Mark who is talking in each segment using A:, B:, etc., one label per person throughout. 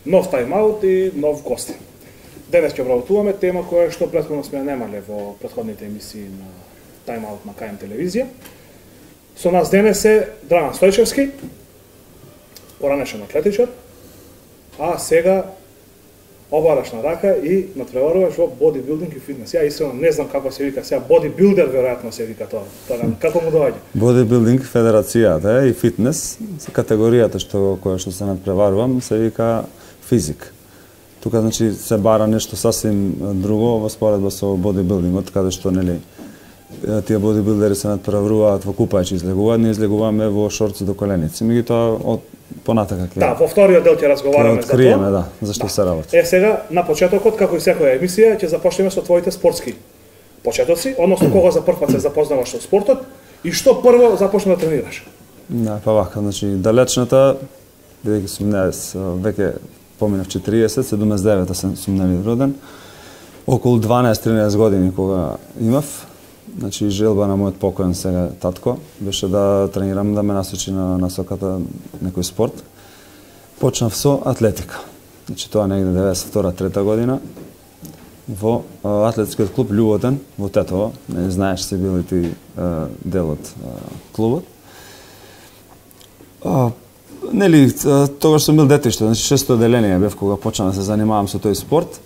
A: нов тайм-аут и нов гости. Денес ќе обработуваме тема која што претходно сме немале во претходните емисии на тайм-аут на КМ телевизија. Со нас денес е Драган Стојчевски, поранешен атлетичар, а сега обараш на рака и натпреваруваш во бодибилдинг и фитнес. Ја искрено не знам како се вика сега, бодибилдер веројатно се вика тоа. Како му доаѓа?
B: Бодибилдинг федерацијата и фитнес, категоријата која што се натпреварувам се вика физик. Тука значи се бара нешто сасвим друго во споредба со бодибилдингот, каде што нели тие бодибилдери се натпреваруваат во купајчи излегуваат, ние излегуваме во шорци до коленици. Меѓутоа од понатака ќе.
A: Да, во вториот дел ќе разговараме за тоа.
B: Да, зашто се работи.
A: Сега на почетокот, како и секоја емисија, ќе започнеме со твоите спортски почетоци, односно кога за прв пат се запознаваш со спортот и што прво започна да тренираш.
B: Да, па вака, значи далечната, бидејќи сум веќе поминав 40, 79-та сум нели роден. Околу 12-13 години кога имав, значи желба на мојот покоен сега татко беше да тренирам, да ме насочи на насоката некој спорт. Почнав со атлетика. Значи тоа негде 92-3 година во атлетскиот клуб Љуботен во Тетово. Не знаеш се бил и ти дел од клубот. Нели тогаш сум бил детиште, значи 6-то одделение бев кога почнав да се занимавам со тој спорт.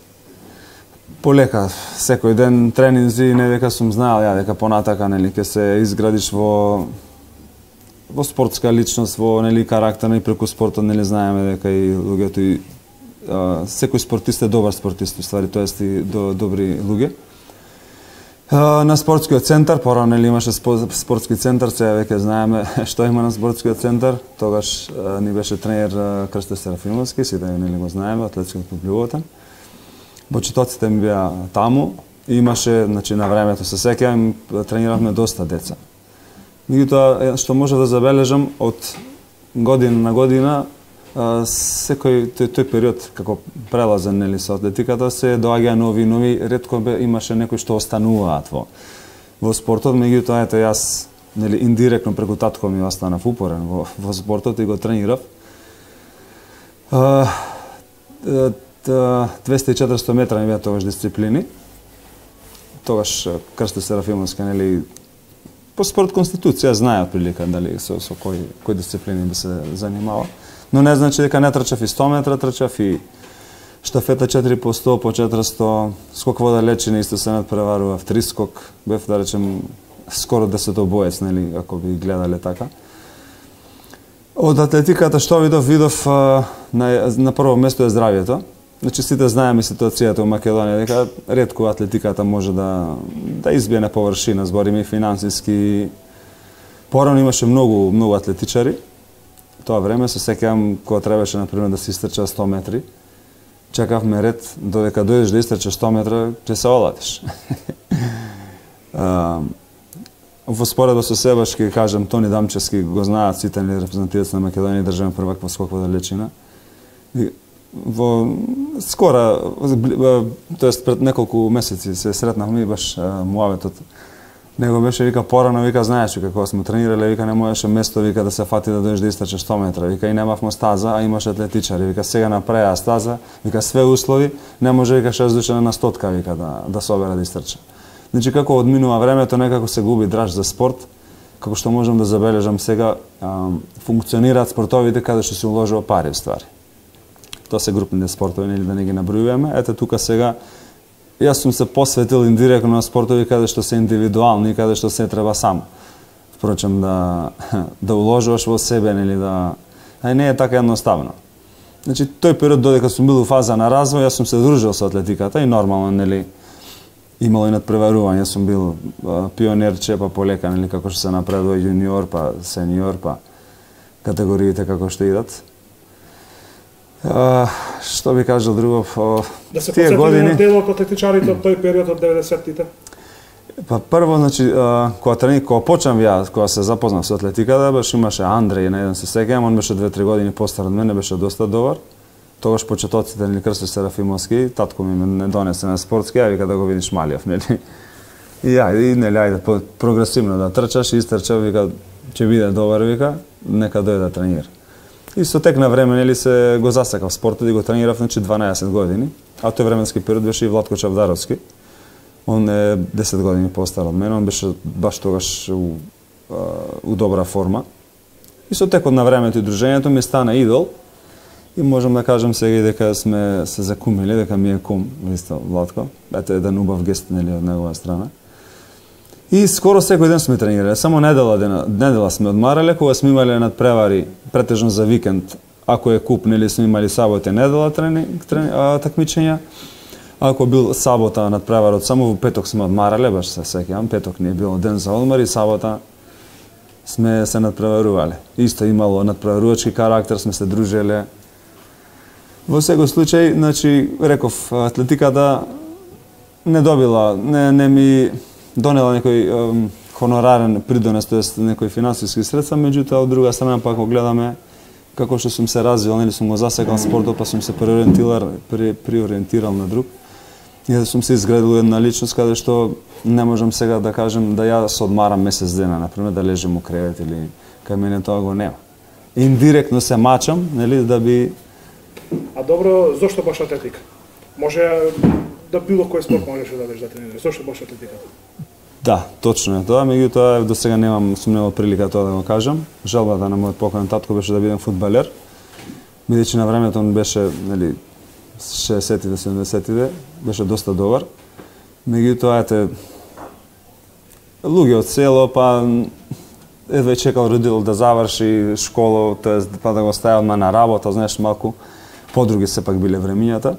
B: Полека, секој ден тренинзи, не дека сум знаел ја дека понатака нели ќе се изградиш во спортска личност, во нели карактер и преку спортот нели знаеме дека и луѓето и секој спортист е добар спортист, ствари тоест и добри луѓе. На спортскиот центар, порано нели имаше спортски центар, сега веќе знаеме што има на спортскиот центар. Тогаш ни беше тренер Крсто Серафимовски, сите нели го знаеме, атлетскиот клуб Љуботен. Почетоците ми беа таму, имаше, значи на времето се сеќавам, трениравме доста деца. Меѓутоа што може да забележам од година на година секој тој период како прелазен нели со атлетиката се доаѓа нови, ретко имаше некои што остануваат во спортот, меѓутоа ето јас нели индиректно преку татко ми останав упорен во спортот и го тренирав. 200-400 метра ми беа тогаш дисциплини. Тогаш Крсто Серафимовски нели по спорт конституција знае прилика дали со кои дисциплини би се занимава. Но не значи дека не трчав и 100 метра, трчав и штафета 4 по 100, по 400, скок во далечина исто се надпреварував, трискок, бев да речем скоро 10-боец, нели, ако би гледале така. Од атлетиката што видов на прво место е здравјето. Значи сите знаеме ситуацијата во Македонија дека ретко атлетиката може да избие на површина, збориме и финансиски. Порано имаше многу атлетичари. Тоа време се сеќавам кога требаше например да се истрча 100 метри. Чекавме ред додека дојдеш да истрчаш 100 метра, ќе се оладиш. Во споредба со Себашки, кажам, Тони Дамчевски го знаат сите репрезентативци на Македонија и државен првак во скок во далечина. Во скоро, тоест пред неколку месеци се сретнавме и баш муаветот. Него беше вика порано, вика знаеш вика кога сме тренирале, вика не можеше место вика да се фати да дојдеш да истрчаш 100 метра, вика и немавме стаза, а имаше атлетичари, вика сега направија стаза, вика све услови, не може вика 6 души на стотка вика да собере да истрча. Значи како одминува времето, некако се губи драж за спорт, како што можам да забележам сега, функционираат спортовите каде што се уложува пари ствари. Тоа се групните спортови, нели да не ги набројуваме. Ете тука сега јас сум се посветил индиректно на спортови каде што се индивидуални и каде што се треба сам. Впрочем да уложуваш во себе, нели не е така едноставно. Значи тој период додека сум бил во фаза на развој, јас сум се дружил со атлетиката и нормално нели имало и надпреварување, сум бил пионерче, па полека нели како што се напредува јуниор, па сениор, па категориите како што идат. Што би кажал друго
A: да се подсетиме на делот од атлетичарите од тој период од 90-тите?
B: Па прво, значи, кога почнав ја, кога се запознав со атлетиката, беше имаше Андреј, на еден се сеќавам, он беше 2-3 години постар од мене, беше доста добар. Тогаш почетоците нели Крсто Серафимовски, татко ми не донесе на спортски, ја вика да го видиш Малиев, нели. И нели ајде прогресивно да трчаш и истрчав, вика ќе биде добар, вика, нека дојде да тренира. И со тек на време нели се го засекав спортот и го тренирав 12 години, а тој временски период беше и Владко Чавдаровски. Он е 10 години постар од мене, он беше баш тогаш у добра форма. И со текот на времето и дружењето ми стана идол. И можам да кажам сега и дека сме се закумили, дека ми е кум, исто Владко. Ете еден убав гест нели од негова страна. И скоро секој ден сме тренирале, само недела сме одмарале, кога сме имале надпревари претежно за викенд. Ако е куп, нели сме имали сабота и недела такмичења. Ако бил сабота надпреварот, само во петок сме одмарале, баш се сеќавам, петок не е било ден за одмор и сабота сме се надпреварувале. Исто имало надпреварувачки карактер, сме се дружеле. Во секој случај, значи, реков, атлетиката не добила, не ми донела некој хонорарен придонес, тоест некои финансиски средства, меѓутоа од друга страна пак го гледаме како што сум се развил, нели сум го засекал спортот, па сум се приориентирал на друг. И да сум се изградил една личност каде што не можам сега да кажем да ја се одмарам месец дена, например да лежам у кревет или кај мене тоа го нема. Индиректно се мачам, нели да би.
A: А добро, зошто баш атлетика? Може да било кој спорт можеше да да тренираш. Зошто баш атлетиката?
B: Да, точно е тоа, меѓутоа до сега сум немал прилика тоа да го кажам. Желбата на мојот покоен татко беше да бидам фудбалер. Бидејќи на времето он беше, нели, 60-тите, 70-тите, беше доста добар. Меѓутоа ете луѓе од село, па едва чекал родител да заврши школа, тоест па да го стави на работа, знаеш, малку подруги сепак биле времињата.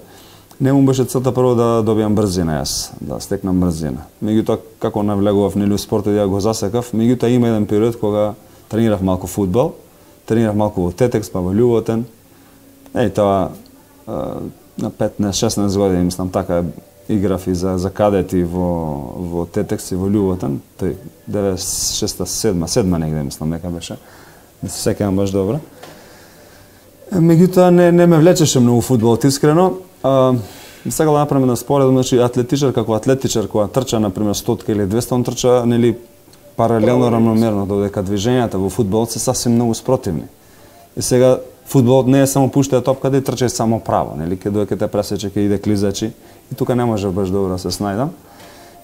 B: Не му беше целта прво да добиам брзина јас, да стекнам брзина. Меѓутоа како навлегував нели спортот ја го засекав, меѓутоа има еден период кога тренирав малку фудбал, тренирав малку во Тетекс, па во Љуботен. Тоа на 15-16 години, мислам така, играв и за кадети во Тетекс и во Љуботен, тој 96-7 негде мислам дека беше. Не се сеќавам баш добро. Меѓутоа не ме влечеше многу фудбалот искрено. Сега да направиме на споредба, значи атлетичар како атлетичар кога трча на пример 100 или 200, он трча нели паралелно рамномерно, додека движењата во фудбалот се сасвим многу спротивни. И сега фудбалот не е само пуштај топката и трчај само право, нели ке додека те пресече ке иде клизачи и тука не може баш добро да се снајдам.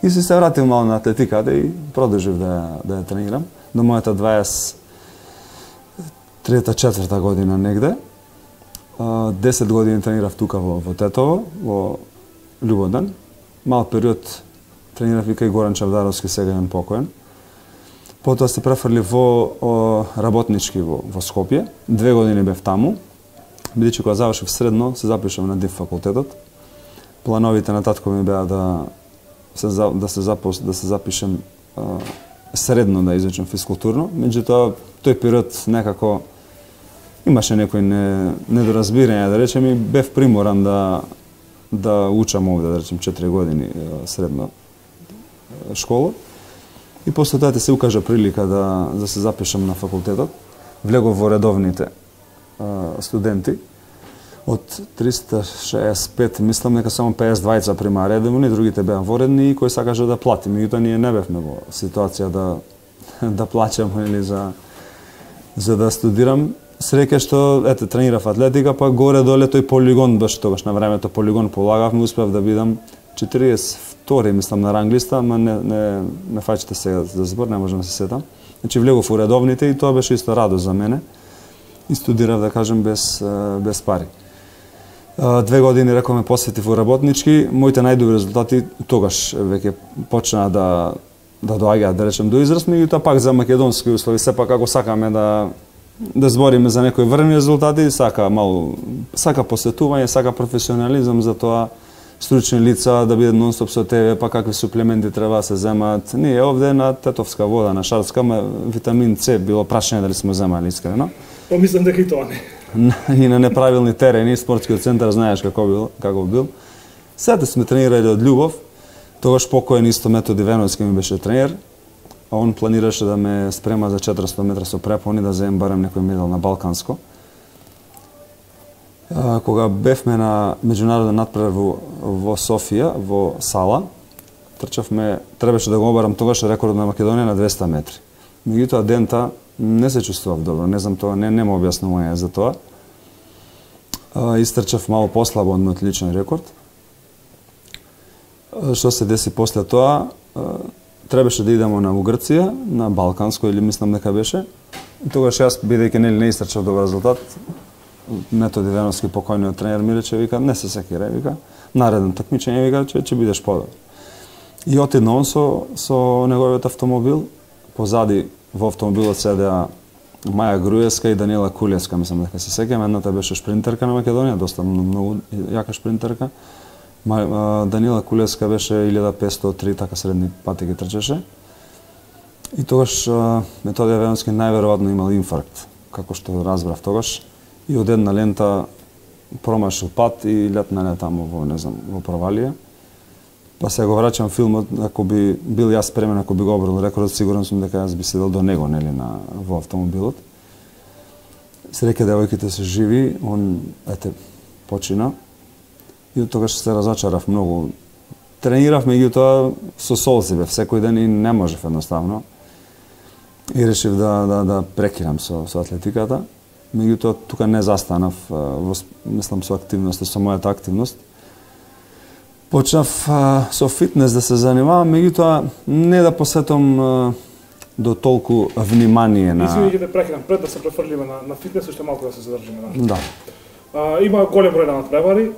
B: И се вратив мало на атлетиката и продолжив да ја тренирам до мојата 23-4 година негде. 10 години тренирав тука во Тетово, во Љубоден. Мал период тренирав и кај Горан Чавдаровски, сега е покоен. Потоа се префрлив во работнички во Скопје. 2 години бев таму. Бидејќи кога завршив средно, се запишав на ДИФ факултетот. Плановите на татко ми беа да се запишем средно да изучам физкултурно. Меѓутоа, тој период некако имаше некои недоразбирања, да речем, и бев приморан да учам овде, да речем, 4 години средно школа. И после тоа се укажа прилика да се запишам на факултетот. Влегов во редовните студенти. Од 365, мислам дека само 52 прима редовни, другите беа воредни и кој сакаше да плати. Меѓутоа ние не бевме во ситуација да плачам или за да студирам. Среќа што тренирав атлетика, па горе-доле тој полигон беше тогаш на времето полигон полагавме, успев да бидам 42 мислам на ранглиста, ама не фаќате сега за збор, не можам да се сетам. Значи влегов у редовните и тоа беше исто радост за мене. И студирав, да кажем, без пари. 2 години рековме посветив во работнички, моите најдобри резултати тогаш веќе почнаа да доаѓаат, да речем, до израз, меѓутоа пак за македонски услови, сепак ако сакаме да збориме за некои врвни резултати, сака посветување, сака професионализам, за тоа стручни лица да бидат нон-стоп со тебе, па какви суплементи треба да се земат. Ние овде на тетовска вода, на шарска, витамин С било прашање дали сме земали искрено.
A: Па мислам дека и тоа не.
B: И на неправилни терени, спортскиот центар знаеш како бил. Сега сме тренирали од љубов, тогаш покоен исто Методи Веновски ми беше тренер, а он планираше да ме спрема за 400 метра со препони, да земам барем некој медал на Балканско. Кога бевме на меѓународен надпревар во Софија, во Сала, требаше да го обарам тогаш рекордот на Македонија на 200 метри. Меѓутоа дента не се чувствував добро, не знам тоа, не ме објаснување за тоа. Истрчав мало послабо од мојот личен рекорд. Што се деси после тоа? Требаше да идеме на Грција, на Балканско или мислам дека беше. И тогаш јас, бидејќи не истрчав добар резултат, Методи Веновски, покојниот тренер, ми рече, вика, не се секирай, вика, наредно такмичење, вика, ќе бидеш подобар. И отидна он со неговиот автомобил, позади во автомобилот седеа Маја Груевска и Данила Кулевска, мислам дека се сеќавам, едната беше шпринтерка на Македонија, доста многу јака шпринтерка. Данила Кулевска беше 1503, така средни пати ги трчеше. И тогаш Методи Веновски најверојатно имал инфаркт, како што разбрав тогаш. И од една лента промашил пат и летнале таму во, не знам, во провалија. Па се го враќам филмот, ако би бил јас спремен, ако би го обрал рекордот, сигурен сум дека јас би седел до него, нели, во автомобилот. Среќа девојките се живи, он, почина. И од тогаш се разочарав многу. Тренирав, меѓутоа, со солзи бев секој ден и не можев едноставно. И решив да прекинам со атлетиката. Меѓутоа, тука не застанав, мислам, со активност, со мојата активност. Почнав со фитнес да се занимавам, меѓутоа не да посветам до толку внимание на...
A: Извини, да прекинам, пред да се префрлиме на фитнес, уште малку да се задржиме.
B: Да.
A: Има голем број на надпревари,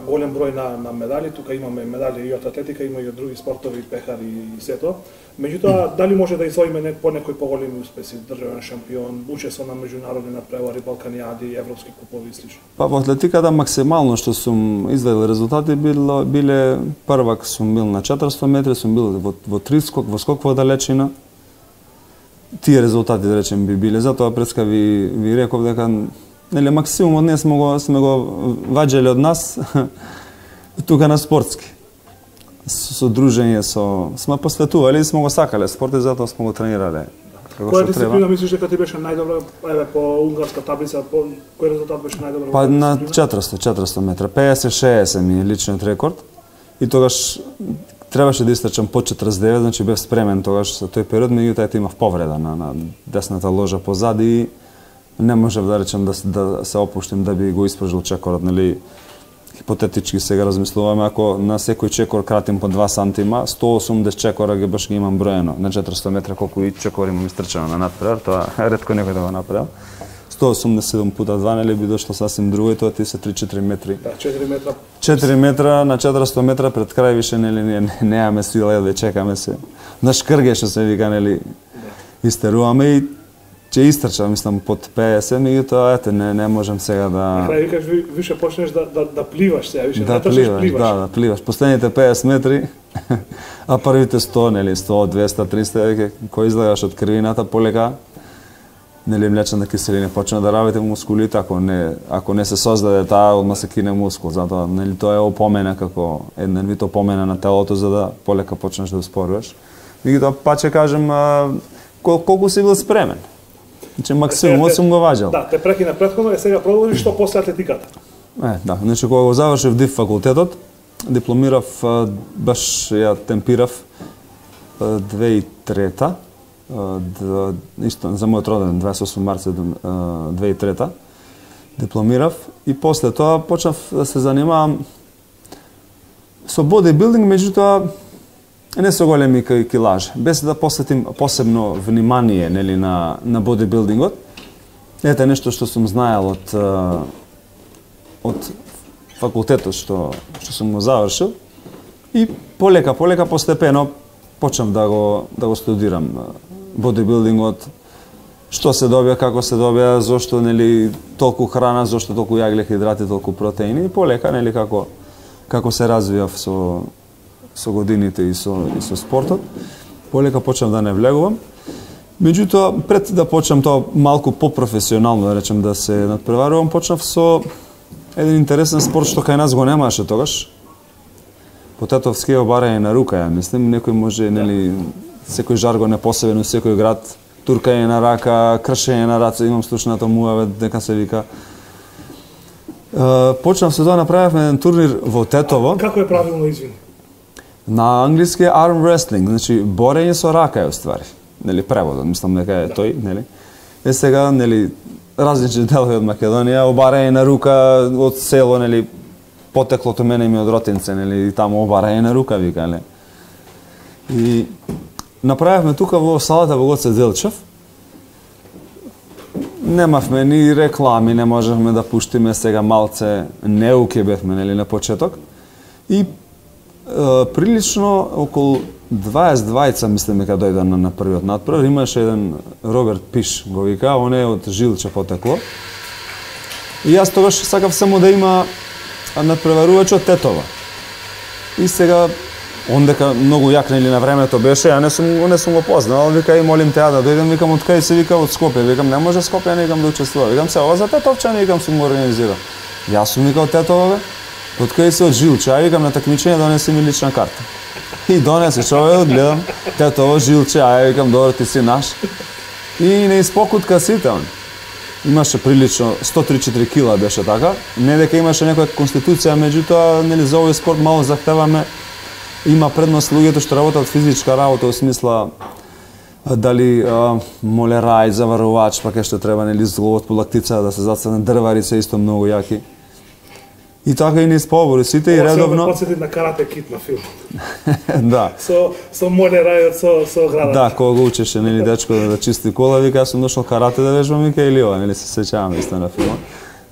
A: голем број на медали, тука имаме медали и од атлетика, има и од други спортови, пехари и сето. Меѓутоа, дали може да извоиме по некои поголеми успеси, државен шампион, учество на меѓународни надпревари, балканијади, европски купови и слично?
B: Па во атлетиката максимално што сум изведел резултати биле првак сум бил на 400 метри, сум бил во трискок, во скок во далечина. Тие резултати, да речем, би биле. Затоа преска ви реков дека нели максимумот не сме го ваѓале од нас тука на спортски. Со дружење, сме посветували и сме го сакале спорт и затоа сме го тренирале.
A: Која дисциплина мислиш дека ти беше најдобра, еве по унгарска таблица, по кој резултат беше најдобар?
B: Па на 400 метра, 50-60 ми е личниот рекорд. И тогаш требаше да истрчам по 49, значи бев спремен тогаш за тој период, меѓутоа имав повреда на десната ложа позади и не можев да речем да се опуштим да би го испражил чекорот, нели? Хипотетички сега размислуваме, ако на секој чекор кратим по 2 сантима, 180 чекора ги баш ги имам броено на 400 метра, колку и чекор имам истрчано на надпревар, тоа ретко некој да го направил. 187 пута 2, нели би дошло сасвим друго и тоа ти се 3-4 метри.
A: Да, 4 метра.
B: 4 метра на 400 метра пред крај више, нели, неаме сила да чекаме се. На шкргеше се вика, нели, истеруваме и ќе истрчам, мислам, под 50, меѓутоа, ете, не можам сега да...
A: На крај викаш, више почнеш да пливаш сега, више
B: да пливаш. Да пливаш. Последните 50 метри, а првите 100, нели, 100, 200, 300, кој излагаш од крвината, полека, нели, млечната киселина почна да работи мускулите, ако не се создаде таа, одма се кине мускул, затоа, нели, тоа е опомена како еден вид опомена на телото за да полека почнеш да успоруваш. Меѓутоа, па ќе кажем, колку си бил спремен. Значи максимумот сум го ваѓал.
A: Да, те прекина претходно и сега продолжи што после атлетиката.
B: Да, значи кога го завршив ДИФ факултетот, дипломирав, баш ја темпирав 2003-та, исто за мојот роден 28 март 2003-та. Дипломирав и после тоа почнав да се занимавам со бодибилдинг, меѓутоа не со големи килажи, без да посветим посебно внимание, нели, на бодибилдингот. Ете нешто што сум знаел од факултетот што сум го завршил и полека постепено почнав да го студирам бодибилдингот, што се добија, како се добија, зошто, нели, толку храна, зошто толку јаглехидрати, толку протеини и полека, нели, како се развивав со годините и со спортот. Полека почнав да не влегувам. Меѓутоа, пред да почнам тоа малку попрофесионално, да речем, да се надпреварувам, почнав со еден интересен спорт што кај нас го немаше тогаш. Потетовскиот барање на рука, ја мислим, некој може, нели, секој жаргон е посебен у секој град, туркање на рака, кршење на раце, имам слушнато муаве дека се вика. Почнав со тоа, направивме еден турнир во Тетово.
A: Како е правилно, извини?
B: На англиски arm wrestling, значи борење со рака е уствари. Нели, преводот, мислам дека е тој, нели. Сега, нели, различни делови од Македонија, обарање на рука од село, нели, потеклото мене ми од Ротинце, нели, и таму обарање на рука, вика, нели. И направивме тука во салата во Гоце Делчев. Немавме ни реклами, не можевме да пуштиме, сега малце неуки бевме, нели, на почеток. И прилично околу 22 мислам дека дојде на првиот натпревар, имаше еден Роберт Пиш, го вика, он е од Жилче потекло. И јас тогаш сакав само да има натпреварувач од Тетова. И сега, он дека многу јак, нели, на времето беше, ја не сум го познал, вика, и молим теа да дојдем, викам, од кај се, вика, од Скопје, викам, не може Скопје, не викам да учествува, викам, се, ова за Тетовчани, викам, сум го организирал. Јас сум, вика, од Тетова, бе, од кај се, од Жилче, а викам, на такмичење донеси ми лична карта. И донесе човек, гледам, Тетово, Жилче, а викам, добро, ти си наш. И не испокутка сите, он. Имаше прилично 103-4 кила беше така. Не дека имаше некоја конституција, меѓутоа, нели, за овој спорт мало захтеваме. Има предност луѓето што работат физичка работа, во смисла дали молерај, заварувач, пак што треба, нели, зловот по лактица, да се зацрне дрвари, се исто многу јаки. И така и низ побори сите и редовно.
A: Ова се подсети на Карате Кид на филм.
B: Да.
A: Со молерајот, со градот.
B: Да, кога го учеше, нели, дечко да чисти кола, вика, јас сум дошол карате да вежбам, вика, или ова, нели, се сеќавам исто на филмот.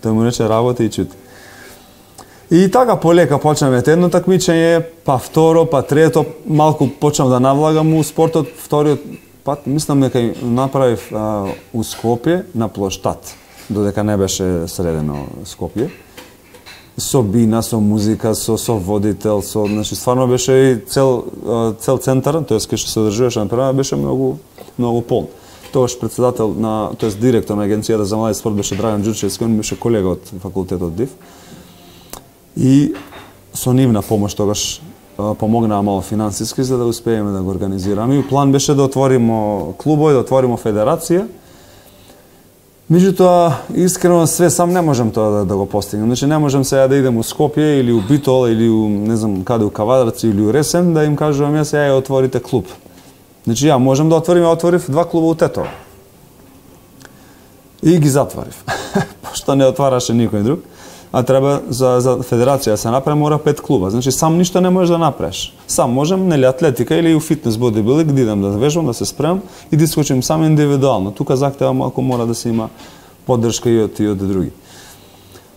B: Тој му рече работа и чути. И така полека почнаме едно такмичење, па второ, па трето, малку почнав да навлагам у спортот, вториот пат, мислам дека направив у Скопје на плоштад, додека не беше средено Скопје. Со бина, со музика, со водител, значи стварно беше и цел центар, тоест кај што се одржуваше на беше многу полн. Тогаш председател на, тоест директор на агенцијата за млади спорт беше Драган Ѓурчевски, он беше колега од факултетот ДИФ. И со нивна помош тогаш помогнаа мало финансиски за да успееме да го организираме. И план беше да отвориме клубови, да отвориме федерација. Меѓутоа, искрено све сам не можам тоа да го постигнем. Значи не можам сега да идем у Скопје или у Битол или у не знам каде у Кавадарци или у Ресен да им кажувам ја сега ја отворите клуб. Значи ја можам да отворив 2 клуба у Тетово. И ги затворив. Пошто не отвараше никој друг. А треба за федерација да се направи мора 5 клуба. Значи сам ништо не можеш да направиш. Сам можам, нели, атлетика или у фитнес бодибилдинг да идам да вежбам, да се спремам и да искочим сам индивидуално. Тука захтева малку мора да се има поддршка и од други.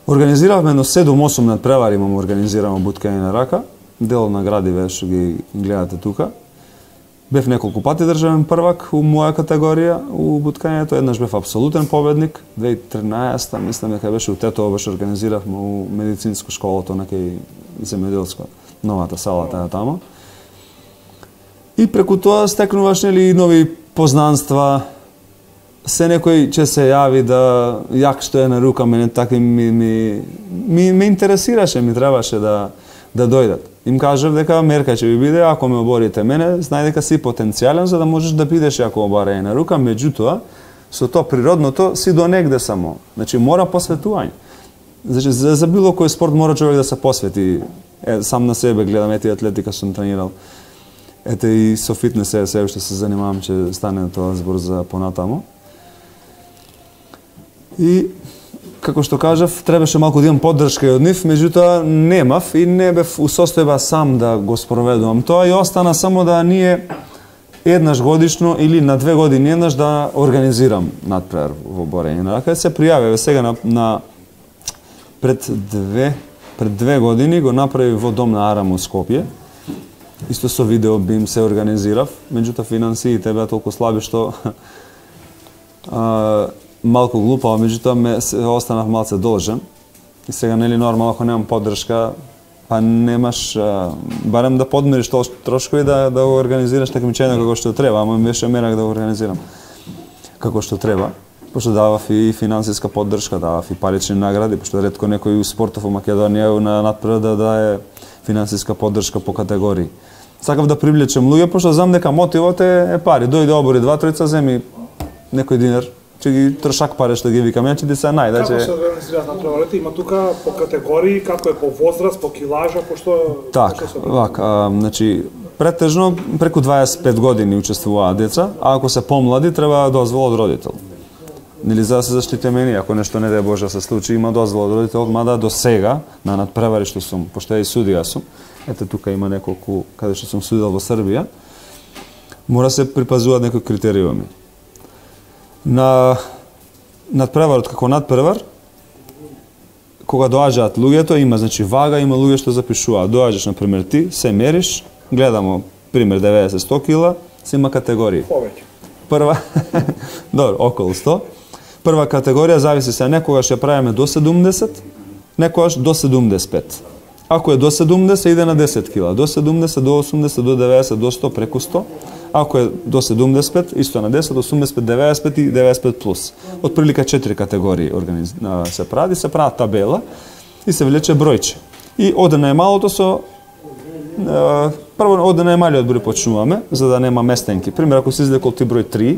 B: Организиравме едно 7-8 надпревари, имам организирано буткање на рака. Дел на градиве што ги гледате тука. Бев неколку пати државен првак у моја категорија у буткањето, еднаш бев апсолутен победник. 2013 мислам дека беше у Тетово, беше организиравме у медицинско школото на кај земјоделско, новата сала таа тамо. И преку тоа стекнуваш, нели, нови познанства. Се некој ќе се јави да јак што е на рука, мене така ми интересираше, ми требаше да дојдат. Им кажав дека мерка ќе ви биде, ако ме оборите мене, знај дека си потенцијален за да можеш да бидеш ако обарање на рука, меѓутоа, со тоа природното си до негде само. Значи, мора посветување. Значи, за било кој спорт мора човек да се посвети. Сам на себе гледам, ете атлетика сум тренирал. Ете и со фитнес се уште се занимавам, че стане тоа збор за понатамо. И како што кажав, требаше малку да имам поддршка и од нив, меѓутоа немав и не бев у состојба сам да го спроведувам тоа и остана само да ние еднаш годишно или на 2 години еднаш да организирам надпревар во борење на рака. Се пријавиве сега пред 2 години го направи во Дом на Арам у Скопје. Исто со видео бим се организирав, меѓутоа финансиите беа толку слаби што малку глупаво, меѓутоа останав малце должен. И сега, нели, нормално, ако немам поддршка, па немаш, барем да подмириш трошкови да го организираш такмичење како што треба, ама ми беше мерак да го организирам како што треба, пошто давав и финансиска поддршка, давав и парични награди, пошто ретко некој у спортов во Македонија на надпревар да дае финансиска поддршка по категории. Сакав да привлечем луѓе, пошто знам дека мотивот е пари. Дојде обори 2-3, земи некој динар, че ги трошак пари што ги викам, ја че ти се најде.
A: Како се организираат надпреварите? Има тука по категории, како е по возраст, по килажа, пошто...
B: Так, вака, значи, претежно преку 25 години учествуваат деца, а ако се помлади, треба дозвола од родител. Нели за да се заштитиме ние, ако нешто не даде Боже се случи, има дозвола од родителот, мада до сега на надпревари што сум, пошто и судија сум. Ете тука има неколку каде што сум судел во Србија. Мора се припазуваат некои критериуми. На надпреварот како надпревар, кога доаѓаат луѓето, има значи вага, има луѓе што запишуваат. Доаѓаш на пример ти, се мериш, гледамо пример 90-100 кила, се има категории.
A: Повеќе.
B: Прва, добро, околу 100. Прва категорија зависи се, некогаш ја правиме до 70, некогаш до 75. Ако е до 70, иде на 10 кила, до 70, до 80, до 90, до 100, преку 100. Ако е до 75, исто на 10, 85, 95 и 95 плюс. Од прилика 4 категории се прави табела и се влече бројче. И оде најмалото со прво оде најмалиот број почнуваме, за да нема местенки. Пример, ако си излекол ти број 3,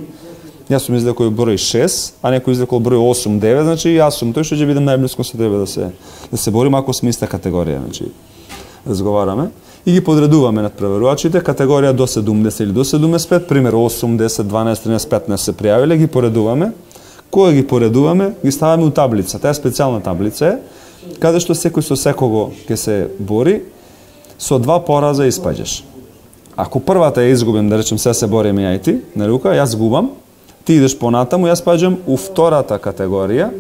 B: јас сум излекол број 6, а некој излекол број 8, 9, значи јас сум тој што ќе бидем најблиско со тебе да се борим ако сме иста категорија, значи разговараме и ги подредуваме надпреварувачите, категорија до 70 или до 75, пример 8, 10, 12, 13, 15 се пријавиле, ги поредуваме. Кога ги поредуваме, ги ставаме у таблица. Таа е специјална таблица, каде што секој со секого ќе се бори, со 2 пораза испаѓаш. Ако првата ја изгубим, да речем се бориме ја и ти, на рука, јас губам, ти идеш понатаму, јас паѓам у втората категорија,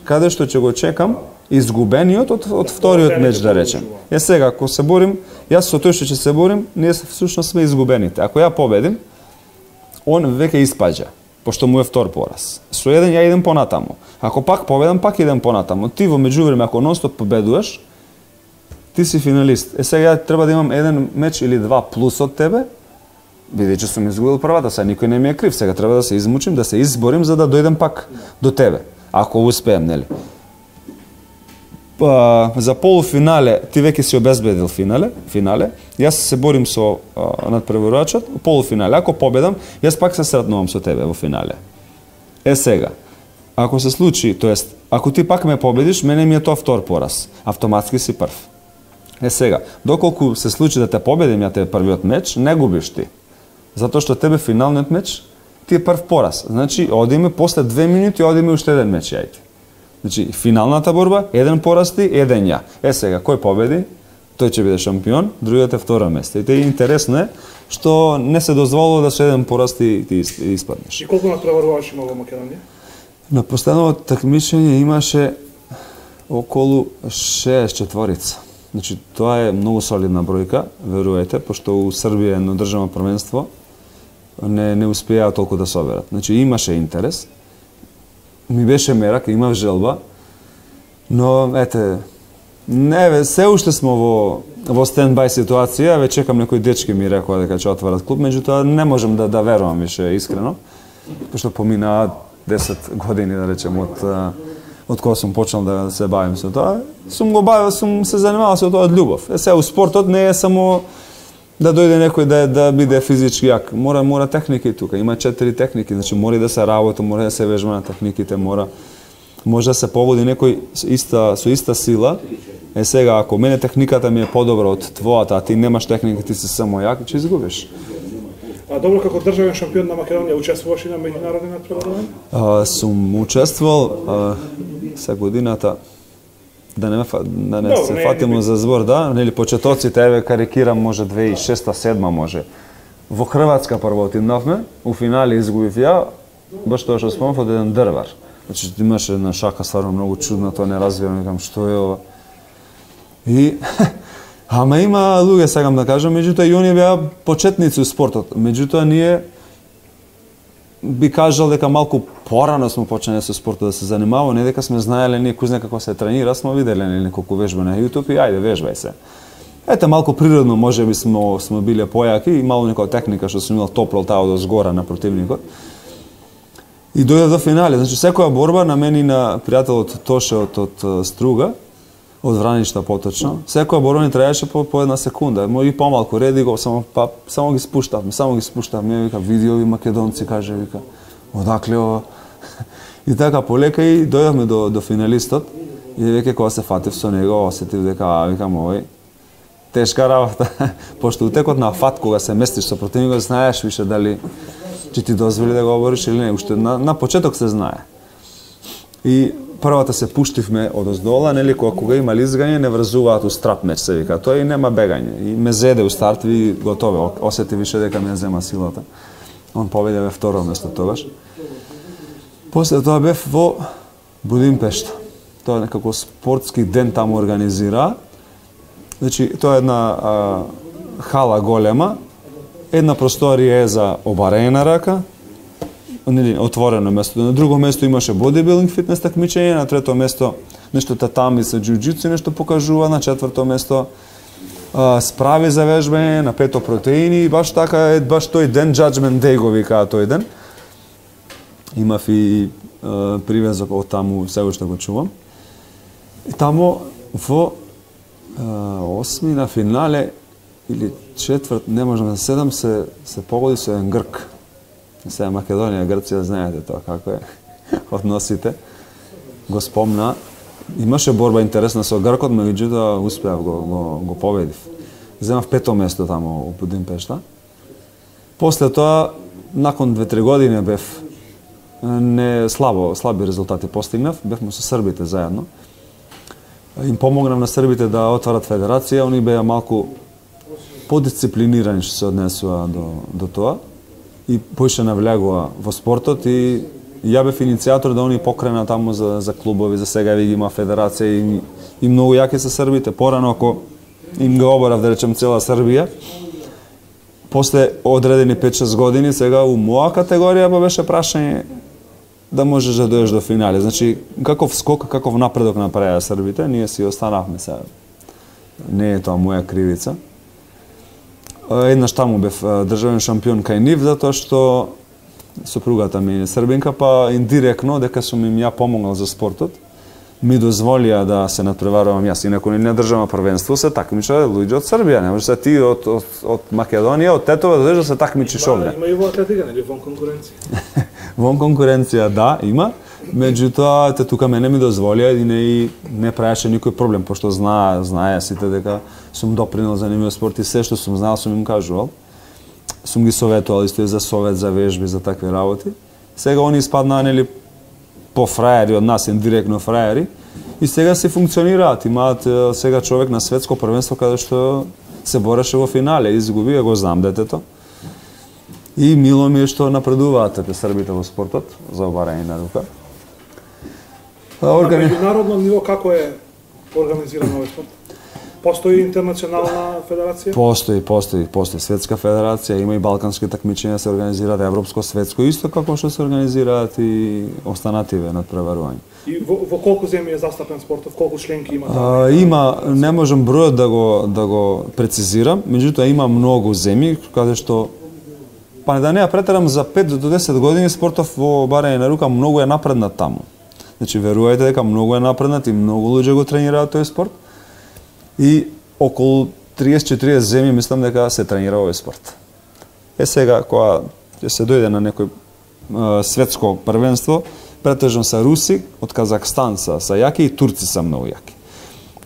B: каде што ќе го чекам изгубениот од вториот меч, да речем. Сега, ако се борим, јас со тој што ќе се борим, ние всушност сме изгубените. Ако ја победим, он веќе испаѓа, пошто му е втор пораз. Со еден ја идем понатаму. Ако пак победам, пак идем понатаму. Ти во меѓувреме, ако нонстоп победуваш, ти си финалист. Сега треба да имам еден меч или 2 плюс од тебе, бидејќи сум изгубил првата, сега никој не ми е крив. Сега треба да се измучим, да се изборим за да дојдем пак до тебе. Ако успеем, нели? За полуфинале ти веќе си обезбедил финале. Јас се борим со надпреварувачот, полуфинале. Ако победам, јас пак се сретнувам со тебе во финале. Сега, ако се случи, тоест, ако ти пак ме победиш, мене ми е тоа втор пораз. Автоматски си прв. Сега, доколку се случи да те победим ја тебе првиот меч, не губиш ти. Затоа што тебе финалниот меч ти е прв пораз. Значи, одиме после 2 минути, одиме уште еден меч јајте. Значи, финалната борба, еден пораз ти, еден ја. Сега, кој победи, тој ќе биде шампион, другиот е второ место. И интересно е што не се дозволува да со еден пораз ти испаднеш.
A: И колку надпреварувачи има во Македонија?
B: На последното такмичење имаше околу 6 Значи, тоа е многу солидна бројка, верувајте, пошто у Србија едно државно првенство не успеа толку да соберат. Значи, имаше интерес, ми беше мерак, имав желба, но, ете, се уште смо во стендбај ситуација, ве чекам некои дечки ми рекоа дека ќе отворат клуб, меѓутоа не можам да верувам више искрено, пошто поминаа 10 години, да речем, од кога сум почнал да се бавим со тоа, сум се занимавал со тоа од љубов. Сега, у спортот не е само да дојде некој да биде физички јак. Мора техники тука. Има 4 техники, значи мора да се работи, мора да се вежба на техниките, може да се погоди некој со иста сила. Сега, ако мене техниката ми е подобра од твојата, а ти немаш техника, ти си само јак, ќе изгубиш.
A: Добро, како државен шампион на Македонија, учествуваш и на меѓународни надпреварувања?
B: Сум учествувал се годината, да не се фатимо за збор, да, нели почетоците, еве карикирам, може 2006-2007 може. Во Хрватска прво отиднавме, у финале изгубив ја, баш тоа што спомнав од еден дрвар. Значи имаше една шака стварно многу чудна, тоа не разбирам, викам што е ова. И ама има луѓе, сакам да кажам, меѓутоа и оние беа почетници у спортот. Меѓутоа ние би кажал дека малку порано сме почнале со спортот да се занимаваме, не дека сме знаеле ние кој знае како се тренира, сме виделе неколку вежба на YouTube и ајде вежбај се. Ете малку природно можеби сме биле појаки и мало некоја техника што сум имал топло таа од згора на противникот. И дојдов до финале, значи секоја борба на мене и на пријателот Тоше од Струга, од Враништа поточно, секоја борба ни траеше по една секунда, и помалку, реди го, само ги спуштавме, вика, види ови македонци, каже, вика, одакле ова. И така полека и дојдовме до финалистот, и веќе кога се фатив со него, осетив дека, викам, овој, тешка работа, пошто утекот на фат, кога се местиш со противникот, знаеш више дали ќе ти дозволи да го обориш или не, уште на почеток се знае. И првата се пуштивме одоздола, нели, кога има лизгање, не врзуваат у страп меч, се вика. Тоа и нема бегање. И ме зеде у старт, ви готове, осети више дека ми ја зема силата. Он победи во второ место тогаш. После тоа бев во Будимпешта. Тоа е некако спортски ден таму организира. Значи, тоа е една хала голема, една просторија е за обарење на рака, отворено место. На друго место имаше бодибилдинг, фитнес такмичење, на трето место нешто татами со џуџицу, нешто покажува, на четврто место справи за вежбање, на пето протеини, баш така, баш тој ден, Judgment Day го викаа тој ден. Имав и привезок од таму, се уште го чувам. И таму во осми на финале или четврт, не можам да седам, се погоди со еден грк. Сега Македонија, Грција, знаете тоа како е односите. Го спомна. Имаше борба интересна со гркот, меѓутоа успеав го победив. Земав пето место таму у Будимпешта. После тоа, након 2-3 години бев слаби резултати постигнав, бевме со србите заедно. Им помогнав на србите да отварат федерација, они беа малку подисциплинирани што се однесува до тоа и поише навлегува во спортот и ја бев иницијатор да они покрена таму за клубови, за сега ги има федерација и многу јаки се србите. Порано ако им го оборав, да речем, цела Србија, после одредени 5-6 години, сега у моја категорија беше прашање да можеш да дојдеш до финале. Значи, каков скок, каков напредок направија србите, ние си останавме сега. Не е тоа моја кривица. Еднаш таму бев државен шампион кај нив, затоа што сопругата ми е србинка, па индиректно, дека сум им ја помогнал за спортот, ми дозволија да се надпреварувам јас. Инаку не државно првенство се такмича луѓе од Србија, не може се ти од Македонија, од Тетово да дојдеш да се такмичиш овде.
A: Има и во атлетика, нели, вон конкуренција.
B: Вон конкуренција, да, има. Меѓутоа, тука мене ми дозволија и не правеше никој проблем, пошто знае сите дека сум допринел за нивниот спорт и се што сум знаел сум им кажувал. Сум ги советувал исто и за совет, за вежби, за такви работи. Сега они испаднаа, нели, по фраери од нас, индиректно фраери, и сега се функционираат. Имаат сега човек на светско првенство каде што се бореше во финале, изгуби, го знам детето. И мило ми е што напредуваат србите во спортот за обарање на рука.
A: На меѓународно ниво како е организиран овој спорт? Постои интернационална федерација?
B: Постои светска федерација, има и балкански такмичења се организираат, европско, светско, исто како што се организираат и останативе надпреварувања.
A: И во колку земји е застапен спортот, колку членки има
B: таму? Има, не можам бројот да го прецизирам, меѓутоа има многу земји каде што, па да не ја претерам, за 5 до 10 години спортов во барање на рука многу е напреднат таму. Значи, верувајте дека многу е напреднат и многу луѓе го тренираат тој спорт. И околу 30-40 земји мислам дека се тренира овој спорт. Сега, кога ќе се дојде на некој светско првенство, претежно са руси, од Казахстан са јаки и турци са многу јаки.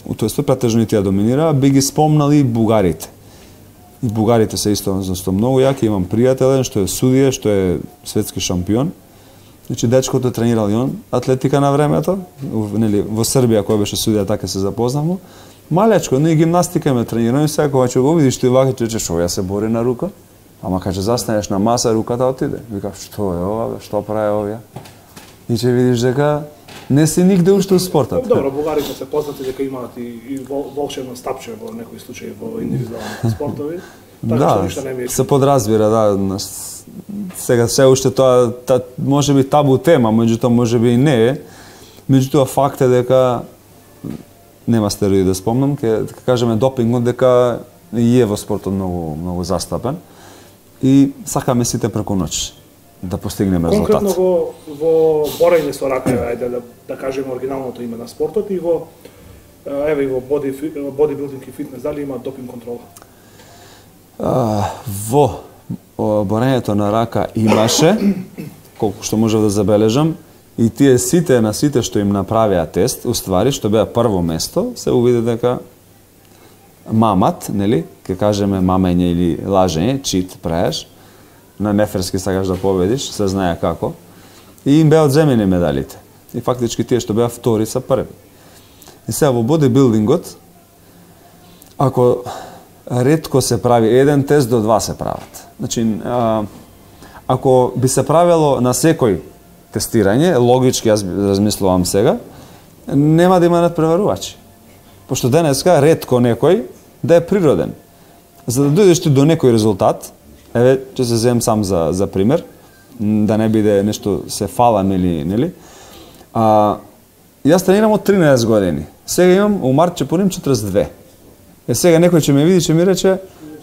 B: У тој спорт претежно и тие доминираа, би ги спомнали и бугарите. И бугарите се исто многу јаки, имам пријател што е судија, што е светски шампион. Значи, дечкото тренирал и он атлетика на времето, во Србија, кој беше судија, така се запознавме. Малечко, но и гимнастика ме тренирам и сега кога ќе го видиш ти вака, че шо ја се бори на рука, ама кога ќе застанеш на маса, руката отиде. Викав, што е ова, што прави овие? И ќе видиш дека не си нигде уште у спортот.
A: Добро, бугарите се познати дека имаат и волшебно стапче во некои случаи во индивидуалните спортови.
B: Да, се подразбира, да. Сега се уште тоа може би табу тема, меѓутоа може би и не е. Меѓутоа факт е дека нема стероиди да спомнам, ќе кажеме допингот дека и е во спортот многу застапен и сакаме сите преку ноќ да постигнеме резултат.
A: Конкретно во борење со рака, ајде да кажеме оригиналното име на спортот и во бодибилдинг и фитнес, дали има допинг контрола?
B: Во борењето на рака имаше, колку што можев да забележам, и тие сите што им направија тест, уствари, што беа прво место, се увиде дека мамат, нели, ке кажеме мамење или лажење, чит правиш, на неферски сакаш да победиш, се знае како, и им беа одземени медалите. и фактички тие што беа втори са први. И сега во бодибилдингот, ако ретко се прави еден тест до 2 се прават. Значи, ако би се правило на секој тестирање, логички јас размислувам сега, нема да има надпреварувачи. Пошто денеска ретко некој да е природен. За да дојдеш ти до некој резултат, еве, ќе се земам сам за пример, да не биде нешто се фалам или, нели? Јас тренирам од 13 години. Сега имам, у март ќе пуним 42. Сега некој ќе ме види, ќе ми рече,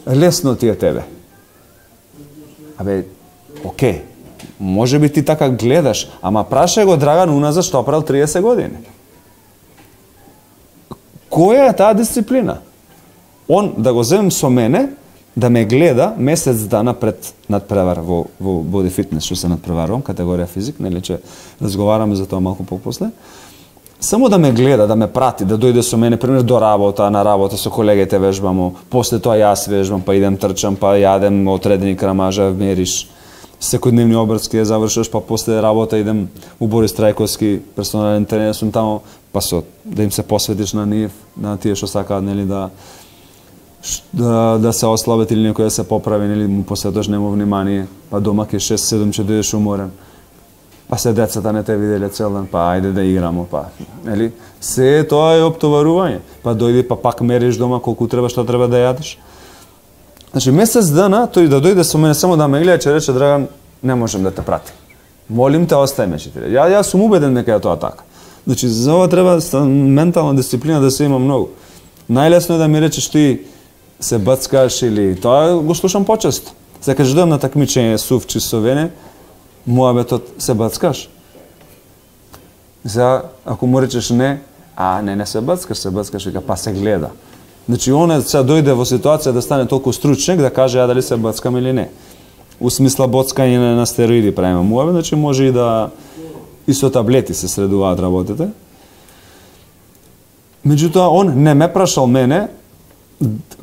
B: лесно ти е тебе. Абе, окей, може би ти така гледаш, ама прашај го Драган уназад што правил 30 години. Која е таа дисциплина? Он да го земем со мене, да ме гледа месец дана пред надпревар во боди фитнес, што се надпреварувам, категорија физик, нели че разговараме за тоа малку попосле. Само да ме гледа, да ме прати, да дојде со мене, пример, до работа, на работа со колегите вежбамо, после тоа јас вежбам, па идем трчам, па јадем отредени крамажа, мериш, секојдневни обрски ја завршуваш, па после работа идем у Борис Трајковски, персонален тренер сум таму, па да им се посветиш на нив, на тие што сакаат, нели, да се ослабат или некој да се поправи, нели, му посветуваш нему внимание, па дома ке 6-7 ќе дојдеш уморен. Па се децата не те виделе цел ден, па ајде да играмо, па, нели? Се тоа е оптоварување. Па дојди, па пак мериш дома колку треба, што треба да јадеш. Значи, месец дана, тој да дојде со мене само да ме гледа, ќе рече, Драган, не можем да те пратим. Молим те, остај ме, читире. Јас сум убеден дека е тоа така. Значи, за ова треба ментална дисциплина да се има многу. Најлесно е да ми речеш ти се бацкаш или тоа го слушам почесто. За кажеш дојам на такмичење Сувчи со Вене, муабетот се бацкаш. За ако му речеш не се бацкаш, вика па се гледа. Значи он се дојде во ситуација да стане толку стручник да каже дали се бацкам или не. У смисла боцкање на стероиди правиме муабет, значи може и да и со таблети се средуваат работите. Меѓутоа он не ме прашал мене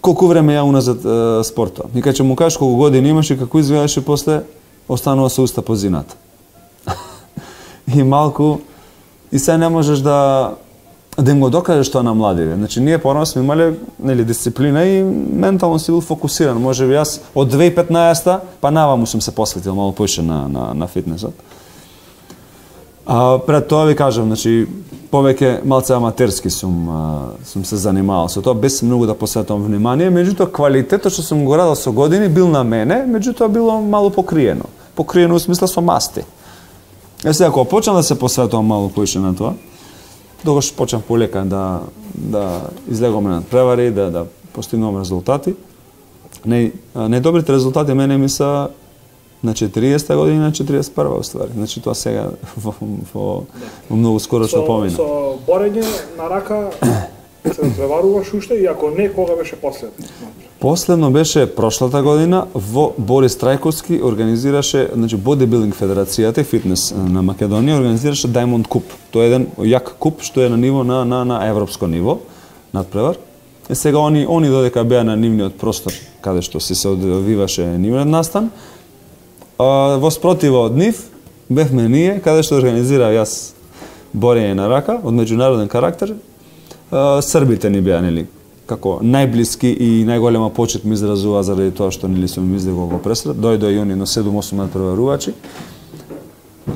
B: колку време ја уназад спортува. И кога ќе му кажеш колку години имаш и како изгледаше после, останува со уста по зината. И малку, и се не можеш да им го докажеш тоа на младиве. Значи, ние порано сме имале, нели, дисциплина и ментално си бил фокусиран. Може би јас од 2015-та, па наваму сум се посветил малку поише на фитнесот. Пред тоа ви кажам, значи, повеќе малце аматерски сум се занимавал со тоа, без многу да посветувам внимание, меѓутоа квалитетот што сум го радел со години бил на мене, меѓутоа било мало покриено. Покриено у смисла со масти. Сега, кога почнам да се посветувам мало поише на тоа, тогаш почнам полека да излегуваме на превари, да постигнувам резултати. Најдобрите резултати мене ми са на 40 години, на 41 уствари. Значи тоа сега во многу скорошно помина.
A: Со борење на рака се преваруваш уште и ако не, кога беше последно?
B: Последно беше прошлата година во Борис Трајковски организираше, значи Бодибилдинг федерацијата и фитнес на Македонија организираше Diamond Cup. Тоа е еден јак куп што е на ниво на европско ниво, надпревар. И сега они додека беа на нивниот простор каде што се одвиваше нивниот настан, во спротива од нив бевме ние каде што организирав јас борење на рака од меѓународен карактер. Србите ни беа, нели, како најблиски и најголема почит ми изразува заради тоа што нели сум излегол во пресред. Дојдоа и они на 7-8 надпреварувачи.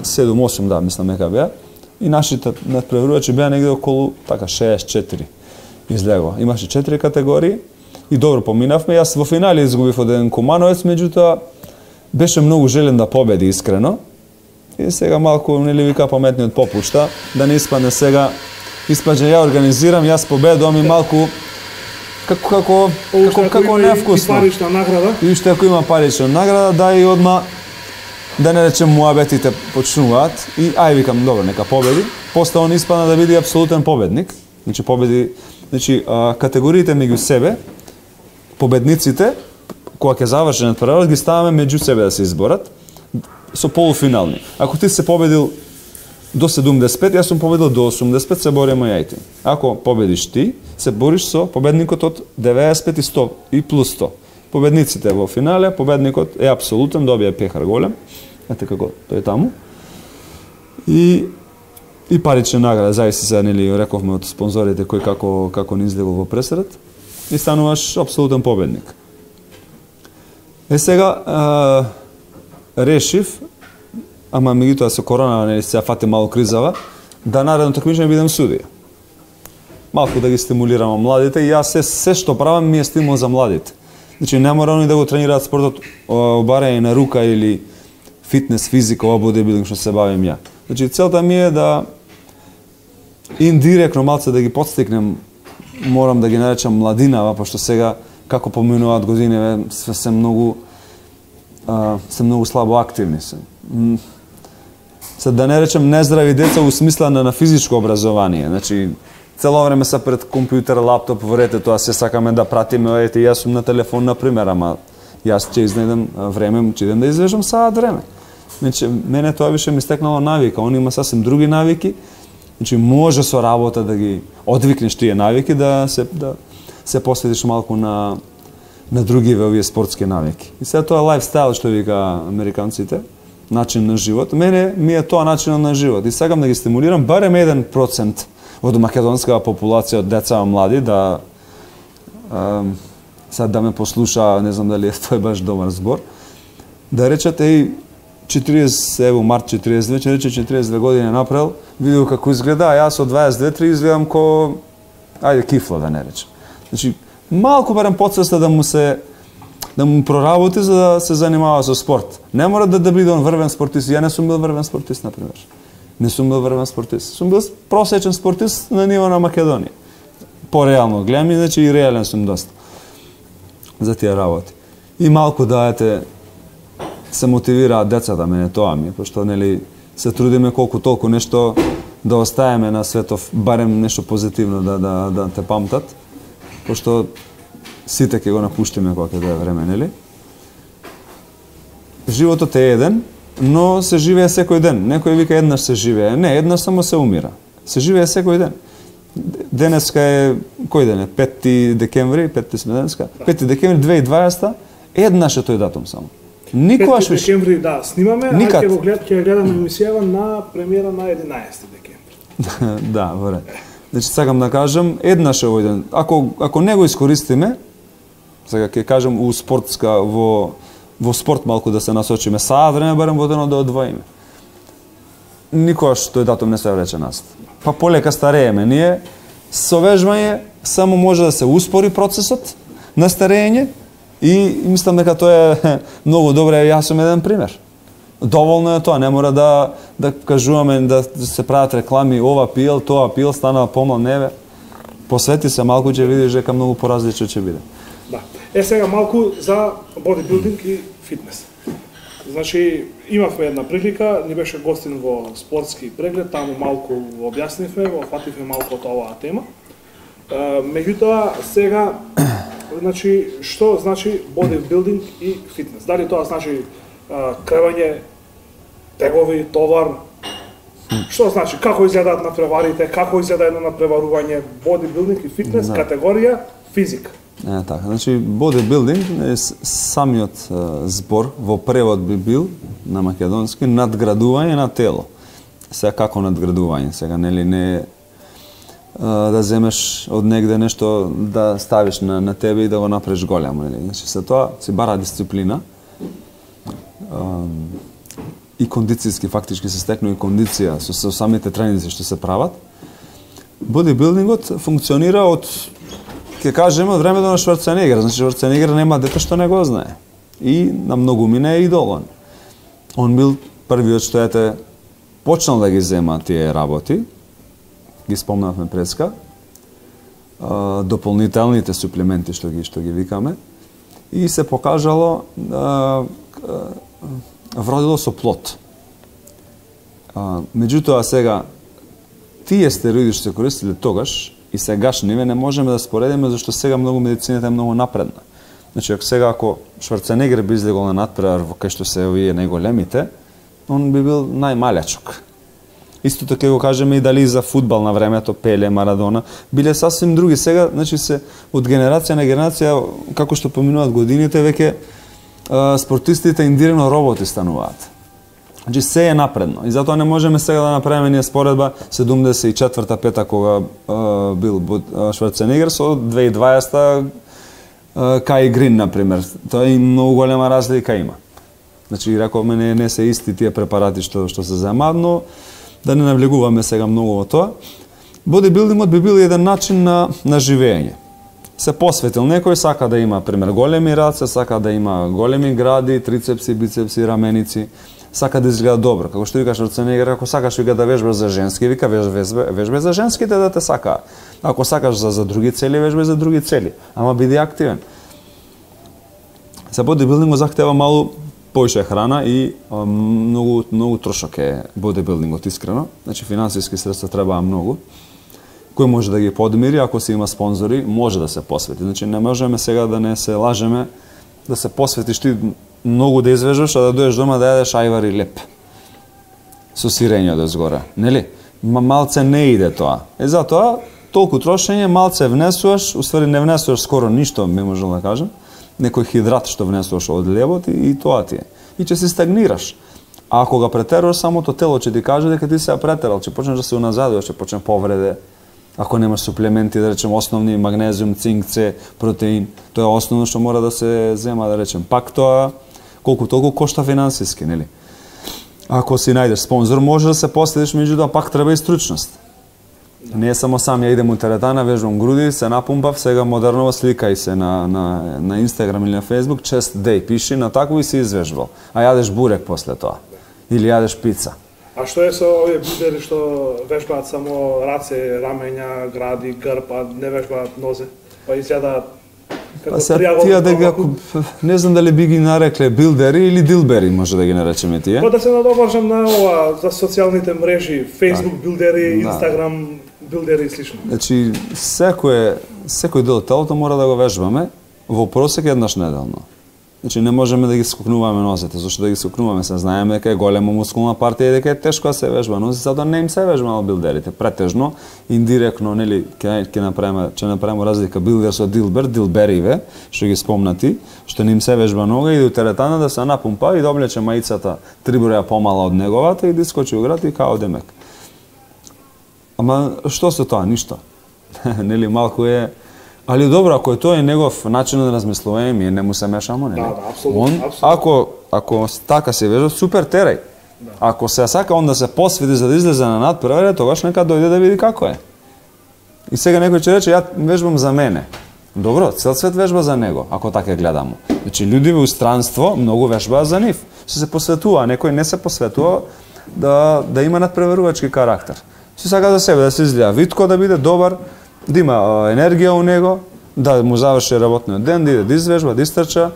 B: 7-8, да, мислам дека беа. И нашите надпреварувачи беа негде околу така 64 излегува. Имаше 4 категории и добро поминавме. Јас во финале изгубив од еден Кумановец, меѓутоа беше многу желен да победи искрено. И сега малку нели вика паметниот попушта, да не испадне сега испаѓа ја организирам, јас победувам и малку како невкусно.
A: И парична награда.
B: И уште ако има парична награда, да и одма да не речем муабетите почнуваат и ај викам добро, нека победи. После он испадна да биде апсолутен победник. Значи победи, категориите меѓу себе, победниците кога ќе заврши надпреварот ги ставаме меѓу себе да се изборат со полуфинални. Ако ти се победил до 75, јас сум победил до 85, се бориме ја и ти. Ако победиш ти, се бориш со победникот од 95 и 100 и плюс 100. Победниците во финале, победникот е апсолутен, добија пехар голем. Ете како тој таму. И и парична награда, зависи се, нели, рековме од спонзорите кој како ни излегол во пресред, и стануваш апсолутен победник. Сега решив, ама меѓутоа со корона, нели, се фати малку кризава, да наредно такмичење бидам судија. Малку да ги стимулирам младите, и јас се што правам ми е стимул за младите. Значи не мора они да го тренираат спортот обарање на рука или фитнес, физика, ова бодибилдинг што се бавим ја. Значи целта ми е да индиректно малце да ги подстикнем, морам да ги наречам младинава, пошто сега како поминуваат години се многу слабо активни се. Да не речем нездрави деца у смисла на физичко образование. Значи цело време се пред компјутер, лаптоп, верете, тоа се сакаме да пратиме, ете, јас сум на телефон, например, ама јас ќе изнајдам време, ќе идем да извежам саат време. Значи, мене тоа више ми стекнало навика, он има сасем други навики, значи може со работа да ги одвикнеш тие навики, да се посветиш малку на други овие спортски навики. И сега тоа лайфстайл што вика американците, начин на живот, мене ми е тоа начинот на живот и сакам да ги стимулирам барем 1% од македонската популација од деца и млади да сега да ме послуша, не знам дали е тој баш добар збор, да речат 40, ево март 42, че рече 42 години направил, видео како изгледа, а јас од 22-3 изгледам ко ајде кифла да не речем. Значи малку барем подсвеста да му проработи за да се занимава со спорт. Не мора да биде он врвен спортист. Ја не сум бил врвен спортист, например. Не сум бил врвен спортист. Сум бил просечен спортист на ниво на Македонија. По-реално гледам и значи и реален сум доста за тие работи. И малку да се мотивираат децата, мене тоа ми, пошто нели се трудиме колку толку нешто да оставиме на светов, барем нешто позитивно да те памтат, пошто сите ќе го напуштиме кога ќе дое време, нели? Животот е еден, но се живее секој ден. Некој вика еднаш се живее. Не, еднаш само се умира. Се живее секој ден. Денеска е, кој ден е? 5 декември, 5 сме денеска? 5 декември 2020, еднаш е тој датум само. Никогаш
A: 5 декември, да, снимаме, а ќе гледаме емисијава на премиера на 11 декември.
B: Да, во ред. Значи, сакам да кажам, еднаш е овој ден. Ако не го искористиме, сега ќе кажам у спортска, во спорт малку да се насочиме, саат време барем во денот да одвоиме. Никогаш тој датум не се врече назад. Па полека старееме. Ние со вежбање само може да се успори процесот на старење и мислам дека тоа е многу добро. Јас сум еден пример. Доволно е тоа, не мора да кажуваме, да се прават реклами, ова пил, тоа пил, станал помал, неве. Посвети се малку, ќе видиш дека многу поразлично ќе биде.
A: Да. Сега малку за бодибилдинг и фитнес. Значи, имавме една прилика, ни беше гостин во спортски преглед, таму малку објаснивме, фативме малку од оваа тема. Меѓутоа, сега, значи, што значи бодибилдинг и фитнес? Дали тоа значи кревање, тегови, товар? Што значи? Како изгледаат надпреварите? Како изгледа едно надпреварување? Бодибилдинг и фитнес, категорија физика.
B: Така, значи бодибилдинг е самиот збор во превод би бил на македонски надградување на тело. Сега како надградување? Сега нели не да земеш од негде нешто да ставиш на тебе и да го направиш големо, нели? Значи се тоа си бара дисциплина. И кондицијски фактички се стекнува и кондиција со самите тренинзи што се прават. Бодибилдингот функционира од, ќе кажеме, од времето на Шварценегер. Значи Шварценегер нема дете што не го знае. И на многу мине е идол он. Он бил првиот што почнал да ги зема тие работи. Ги спомнавме преска. Дополнителните суплементи што ги викаме. И се покажало вродило со плод. Меѓутоа сега тие стероиди што се користеле тогаш и сегашниве не можеме да споредиме зашто сега многу медицината е многу напредна. Значи ако Шварценегер би излегол на надпревар во кај што се овие најголемите, он би бил најмалјачок. Истото ќе го кажеме и дали за фудбал на времето, Пеле, Марадона, биле сасвим други. Сега, значи се од генерација на генерација, како што поминуваат годините, веќе спортистите индиректно роботи стануваат. Значи се е напредно и затоа не можеме сега да направиме ние споредба 74-та кога бил Шварценегер со 2020-та Кај Грин например. Тоа и многу голема разлика има. Значи рековме не се исти тие препарати што се земаат, но да не навлегуваме сега многу во тоа. Бодибилдингот би бил еден начин на живење. Се посветил некој, сака да има пример големи раце, сака да има големи гради, трицепси, бицепси, раменици, сака да изгледа добро. Како што викаш Шварценегер, ако сакаш вика да вежбаш за женски, вика вежбај за женските да те сакаат. Ако сакаш за други цели, вежбај за други цели, ама биди активен. За бодибилдингот захтева малку поише храна и многу трошок е бодибилдингот, искрено. Значи финансиски средства требаа многу. Кој може да ги подмири, ако се има спонзори, може да се посвети. Значи не можеме сега да не се лажеме, да се посветиш ти многу да извежбаш, а да дојдеш дома да јадеш ајвар и леп. Со сирење од згора, нели? Малце не иде тоа. Затоа толку трошење, малце внесуваш, уствари не внесуваш скоро ништо, ме можам да кажам. Некој хидрат што внесуваш од лебот и тоа ти е. И ќе се стагнираш. А ако го претеруваш, самото тело ќе ти каже дека ти се претерал, ќе почнеш да се уназадуваш, ќе почне повреде. Ако немаш суплементи, да речем основни магнезиум, цинк, С, протеин, тоа е основно што мора да се зема, да речем. Пак тоа колку толку кошта финансиски, нели? Ако си најдеш спонзор, може да се последиш, меѓутоа пак треба и стручност. Не е само сам ја идем у теретана, вежбам груди, се напумпав, сега модерново сликај се на Инстаграм или на Фейсбук, chest day, пиши на тако и си извежбал. А јадеш бурек после тоа. Или јадеш пица.
A: А што е со овие бидери што вежбаат само раце, рамења, гради, грб, а не вежбаат нозе? Па изјадаат како
B: тие дека не знам дали би ги нарекле билдери или дилбери, може да ги наречеме тие.
A: Па да се надобржам на ова за социјалните мрежи, Facebook билдери, Instagram билдери и слично.
B: Значи секој дел од телото мора да го вежбаме во просек еднаш неделно. Значи не можеме да ги скокнуваме нозете, зашто да ги скокнуваме, се знаеме дека е голема мускулна партија и дека е тешко да се вежба нозе, затоа не им се вежба на билдерите, претежно, индиректно, нели, ќе направиме разлика билдер со дилбер, дилбериве, што ги спомнати, што не им се вежба нога и до теретана да се напумпа и да облече маицата 3 броја помала од неговата и да искочи у град и као демек. Ама што со тоа? Ништо. Нели малку е. Али добро, ако е тоа и негов начин на размислување, ние не му се мешамо, нели?
A: Да, апсолутно.
B: Ако така се вежа, супер, терај. Да. Ако се сака он да се посвети за да излезе на надпревари, тогаш нека дојде да види како е. И сега некој ќе рече, ја вежбам за мене. Добро, цел свет вежба за него, ако така гледамо. Значи, луѓе во странство многу вежбаат за нив. Се посветува, некој не се посветува да има надпреварувачки карактер. Се сака за себе да се изгледа витко, да биде добар, да има енергија у него, да му заврши работниот ден, да иде да извежба, да истрча,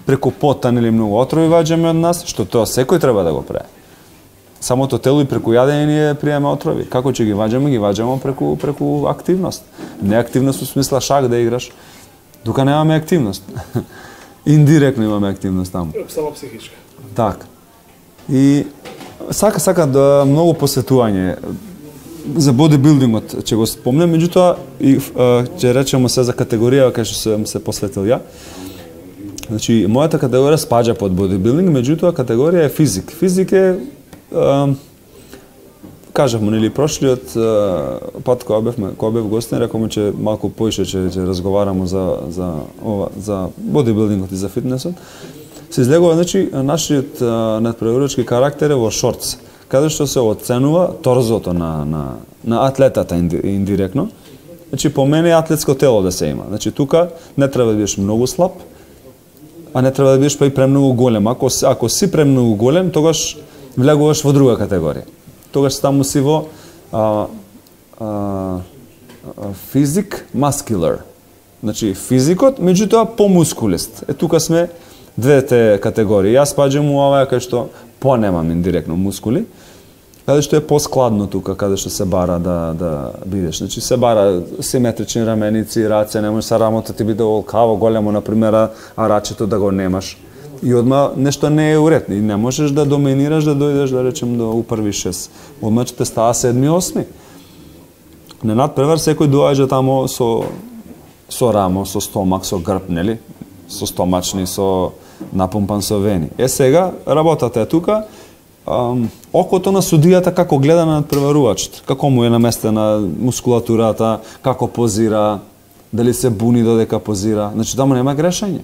B: преку потан или многу отрови ваѓаме од нас, што тоа секој треба да го прави. Самото тело и преку јадење ние приеме отрови. Како ќе ги ваѓаме преку активност. Не активност у смисла шак да играш, тука немаме активност. Индиректно имаме активност таму.
A: Само психичка.
B: Така. И сака да многу посветување за бодибилдингот ќе го спомнем, меѓутоа и ќе речеме се за категорија кај што сум се посветил ја. Значи, мојата категорија спаѓа под бодибилдинг, меѓутоа категорија е физик. Физик е кажавме нели прошлиот пат кога бев гостин, рековме че малку поише ќе разговарамо за бодибилдингот и за фитнесот. Се излегува, значи, нашиот надпреварувачки карактер е во шортс, каде што се оценува торзото на атлетата индиректно. Значи, по мене е атлетско тело да се има. Значи, тука не треба да бидеш многу слаб, а не треба да бидеш па и премногу голем. Ако си премногу голем, тогаш влегуваш во друга категорија. Тогаш таму си во физик маскулар. Значи, физикот, меѓутоа помускулист. Тука сме двете категории. Јас спаѓам у оваа кај што понемам индиректно мускули, каде што е поскладно тука, каде што се бара да бидеш. Значи се бара симетрични раменици, раце, не може са рамото ти биде олкаво големо, например, а рачето да го немаш. И одма нешто не е уред. И не можеш да доминираш, да дојдеш, да речем, до упрви 6. Одма ќе те става 7-8. На надпревар секој доаѓа тамо со рамо, со стомак, со грб, нели? Со стомачни, со напумпан со вени. Сега, работата е тука, окото на судијата како гледа на надпреварувачот, како му е наместена мускулатурата, како позира, дали се буни додека позира, значи таму нема грешење.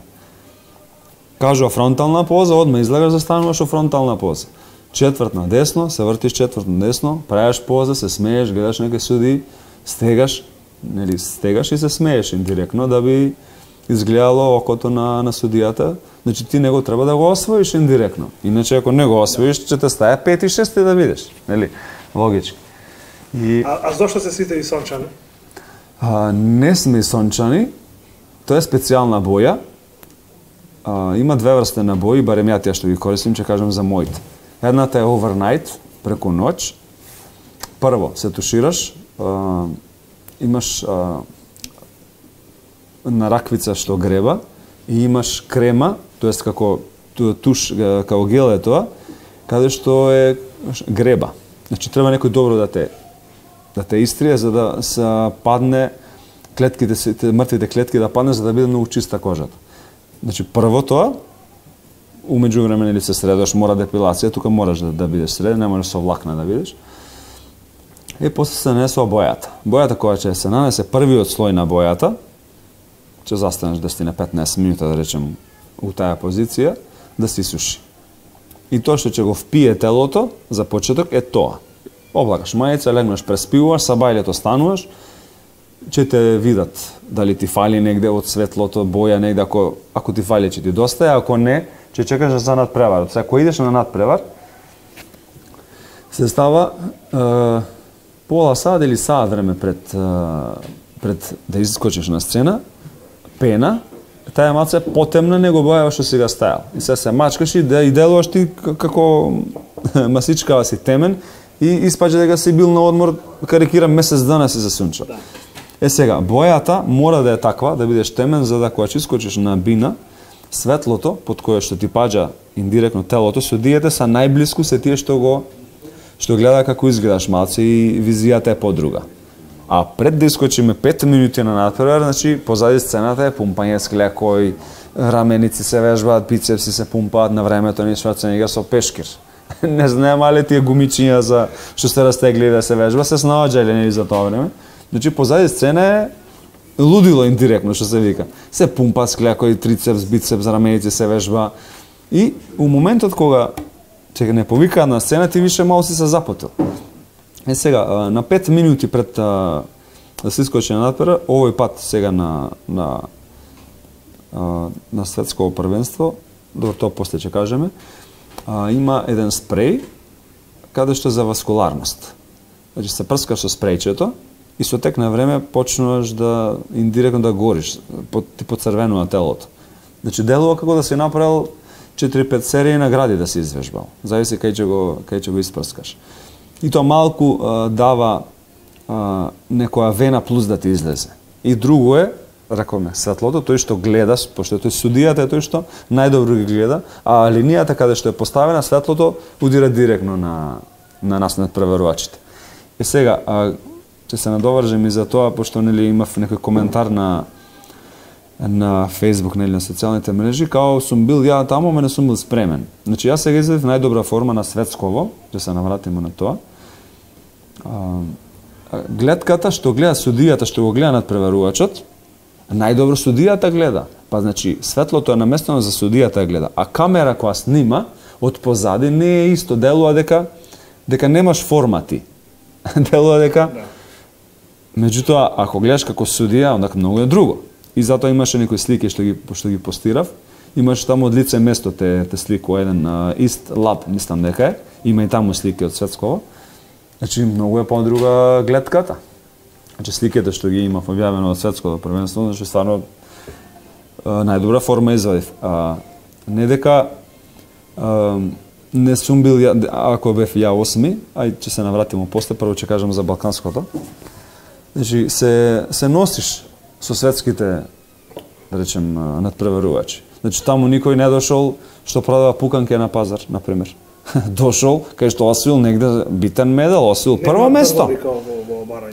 B: Кажува фронтална поза, одма излегаш, застануваш во фронтална поза. Четврт на десно, се вртиш четврт на десно, правиш поза, се смееш, гледаш некој суди, стегаш и се смееш индиректно да би изгледало окото на судијата. Значи ти него треба да го освоиш индиректно. Иначе ако не го освоиш, ќе те стае 5 и 6 да видиш, нели? Логички.
A: А зошто се сите и сончани?
B: Не сме и сончани. Тоа е специјална боја. Има две врсти на бои, барем ја тие што ги користим, ќе кажам за моите. Едната е overnight, преку ноќ. Прво, се тушираш, имаш на раквица што греба и имаш крема, тоест како туш, како гел е тоа, каде што е греба. Значи треба некој добро да те истрие за да се падне клетките, мртвите клетки да падне за да биде многу чиста кожата. Значи прво тоа, умеѓу време или се средаш, мора депилација, тука мораш да бидеш среден, не можеш со влакна да бидеш. И после се нанесува бојата. Бојата која ќе се нанесе првиот слој на бојата, ќе застанеш 10-15 минута, да речем, у таа позиција, да се исуши. И тоа што ќе го впие телото, за почеток, е тоа. Облагаш мајица, легнеш, преспиваш, са бајлето стануваш, ќе те видат дали ти фали негде од светлото, боја негде, ако ти фали ќе ти достае, ако не, ќе чекаш за надпревар. Ако идеш на надпревар, се става пола сат или сат време пред да искочиш на сцена, пена, таа малце е потемна него боја што сега стајал. И се мачкаш и делуваш ти како масичкава си темен и испаѓа дека си бил на одмор, карикирам, месец дана си засунча. Сега, бојата мора да е таква, да бидеш темен, за да кога искочиш на бина, светлото, под кое што ти паѓа индиректно телото, судиите са најблиску се тие што гледа како изгледаш малце и визијата е подруга. А пред да искочиме 5 минути на надпревар, значи позади сцената е пумпање с клекој, раменици се вежбаат, бицепси се пумпаат, на времето ни Шварценегер со пешкир. Не знаем ли тие гумичиња за што се растегли да се вежба, се снаоѓале нели за тоа време. Значи позади сцена е лудило индиректно што се вика. Се пумпа с клекој, трицепс, бицепс, раменици се вежба. И у моментот кога ќе не повика на сцена, ти више мало си се запотил. Сега, на 5 минути пред да се искочи на надпревар, овој пат сега на светско првенство, добро тоа после ќе кажеме, има еден спреј каде што за васкуларност. Значи се прскаш со спрејчето и со тек на време почнуваш да индиректно да гориш, ти поцрвенува телото. Значи делува како да си направил 4-5 серии награди да си извежбал. Зависи кај ќе го испрскаш. И тоа малку дава некоја вена плюс да ти излезе. И друго е, рекоме, светлото, тој што гледаш, пошто тој судијата е тој што најдобро ги гледа, а линијата каде што е поставена, светлото удира директно на нас надпреварувачите. И сега, ќе се надовржем и за тоа, пошто нели имав некој коментар на Facebook, нели на социјалните мрежи, као сум бил ја таму, ама не сум бил спремен. Значи јас сега излезив најдобра форма на светсково, ќе се навратиме на тоа. Гледката што гледа судијата, што го гледа надпреварувачот, најдобро судијата гледа. Па значи светлото е наместено за судијата гледа, а камера која снима од позади не е исто, делува дека немаш формати. Делува дека меѓутоа ако гледаш како судија, онда многу е друго. И затоа имаше некои слики што ги постирав. Имаше таму од лице место те слику еден East Lab, мислам дека е. Има и таму слики од светсково. Значи многу е подруга гледката. Значи сликите што ги имав објавено од светското првенство, значи стварно најдобра форма извадив. Не дека не сум бил ако бев ја 8, ај ќе се навратиме после, прво ќе кажам за балканското. Значи се носиш со светските, да речем, надпреварувачи. Значи таму никој не дошол што продава пуканке на пазар, на пример. Дошол кај што освоил негде битен медал, освоил прво место.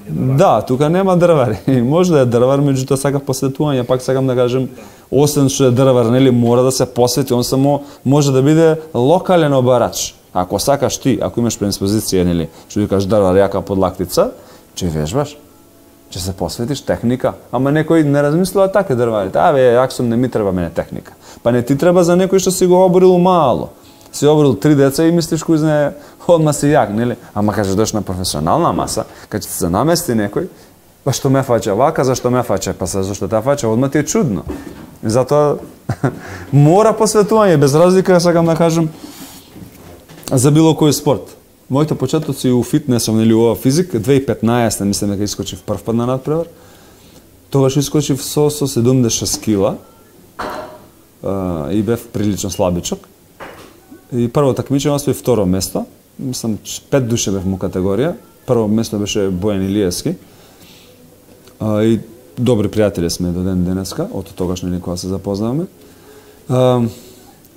B: Да, тука нема дрвари. Може да е дрвар, меѓутоа сакам посветување, пак сакам да кажем, освен што е дрвар, нели мора да се посвети, он само може да биде локален обарач. Ако сакаш ти, ако имаш предиспозиција, нели, што викаш дрва јака под лактица, ќе вежбаш. Ќе се посветиш техника. Ама некој не размислува така дрварите. Јак сум, не ми треба мене техника. Па не ти треба за некој што си го оборил мало. Си оборил 3 деца и мислиш кој знае, одма си јак, нели? Ама кажеш дош на професионална маса, кога ќе се намести некој, па што ме фаќа вака, зашто ме фаќа, па зашто та фаќа, одма ти е чудно. И затоа мора посветување, без разлика, сакам да кажам, за било кој спорт. Моите почетоци у фитнесом, нели ова физик, 2015 мислам дека искочив прв пат на надпревар. Тогаш искочив со 76 кила и бев прилично слабичок. И прво такмичење освои второ место. Мислам 5 души бев му категорија. Прво место беше Бојан Илиевски. И добри пријатели сме до ден денеска, од тогаш нели кога се запознаваме.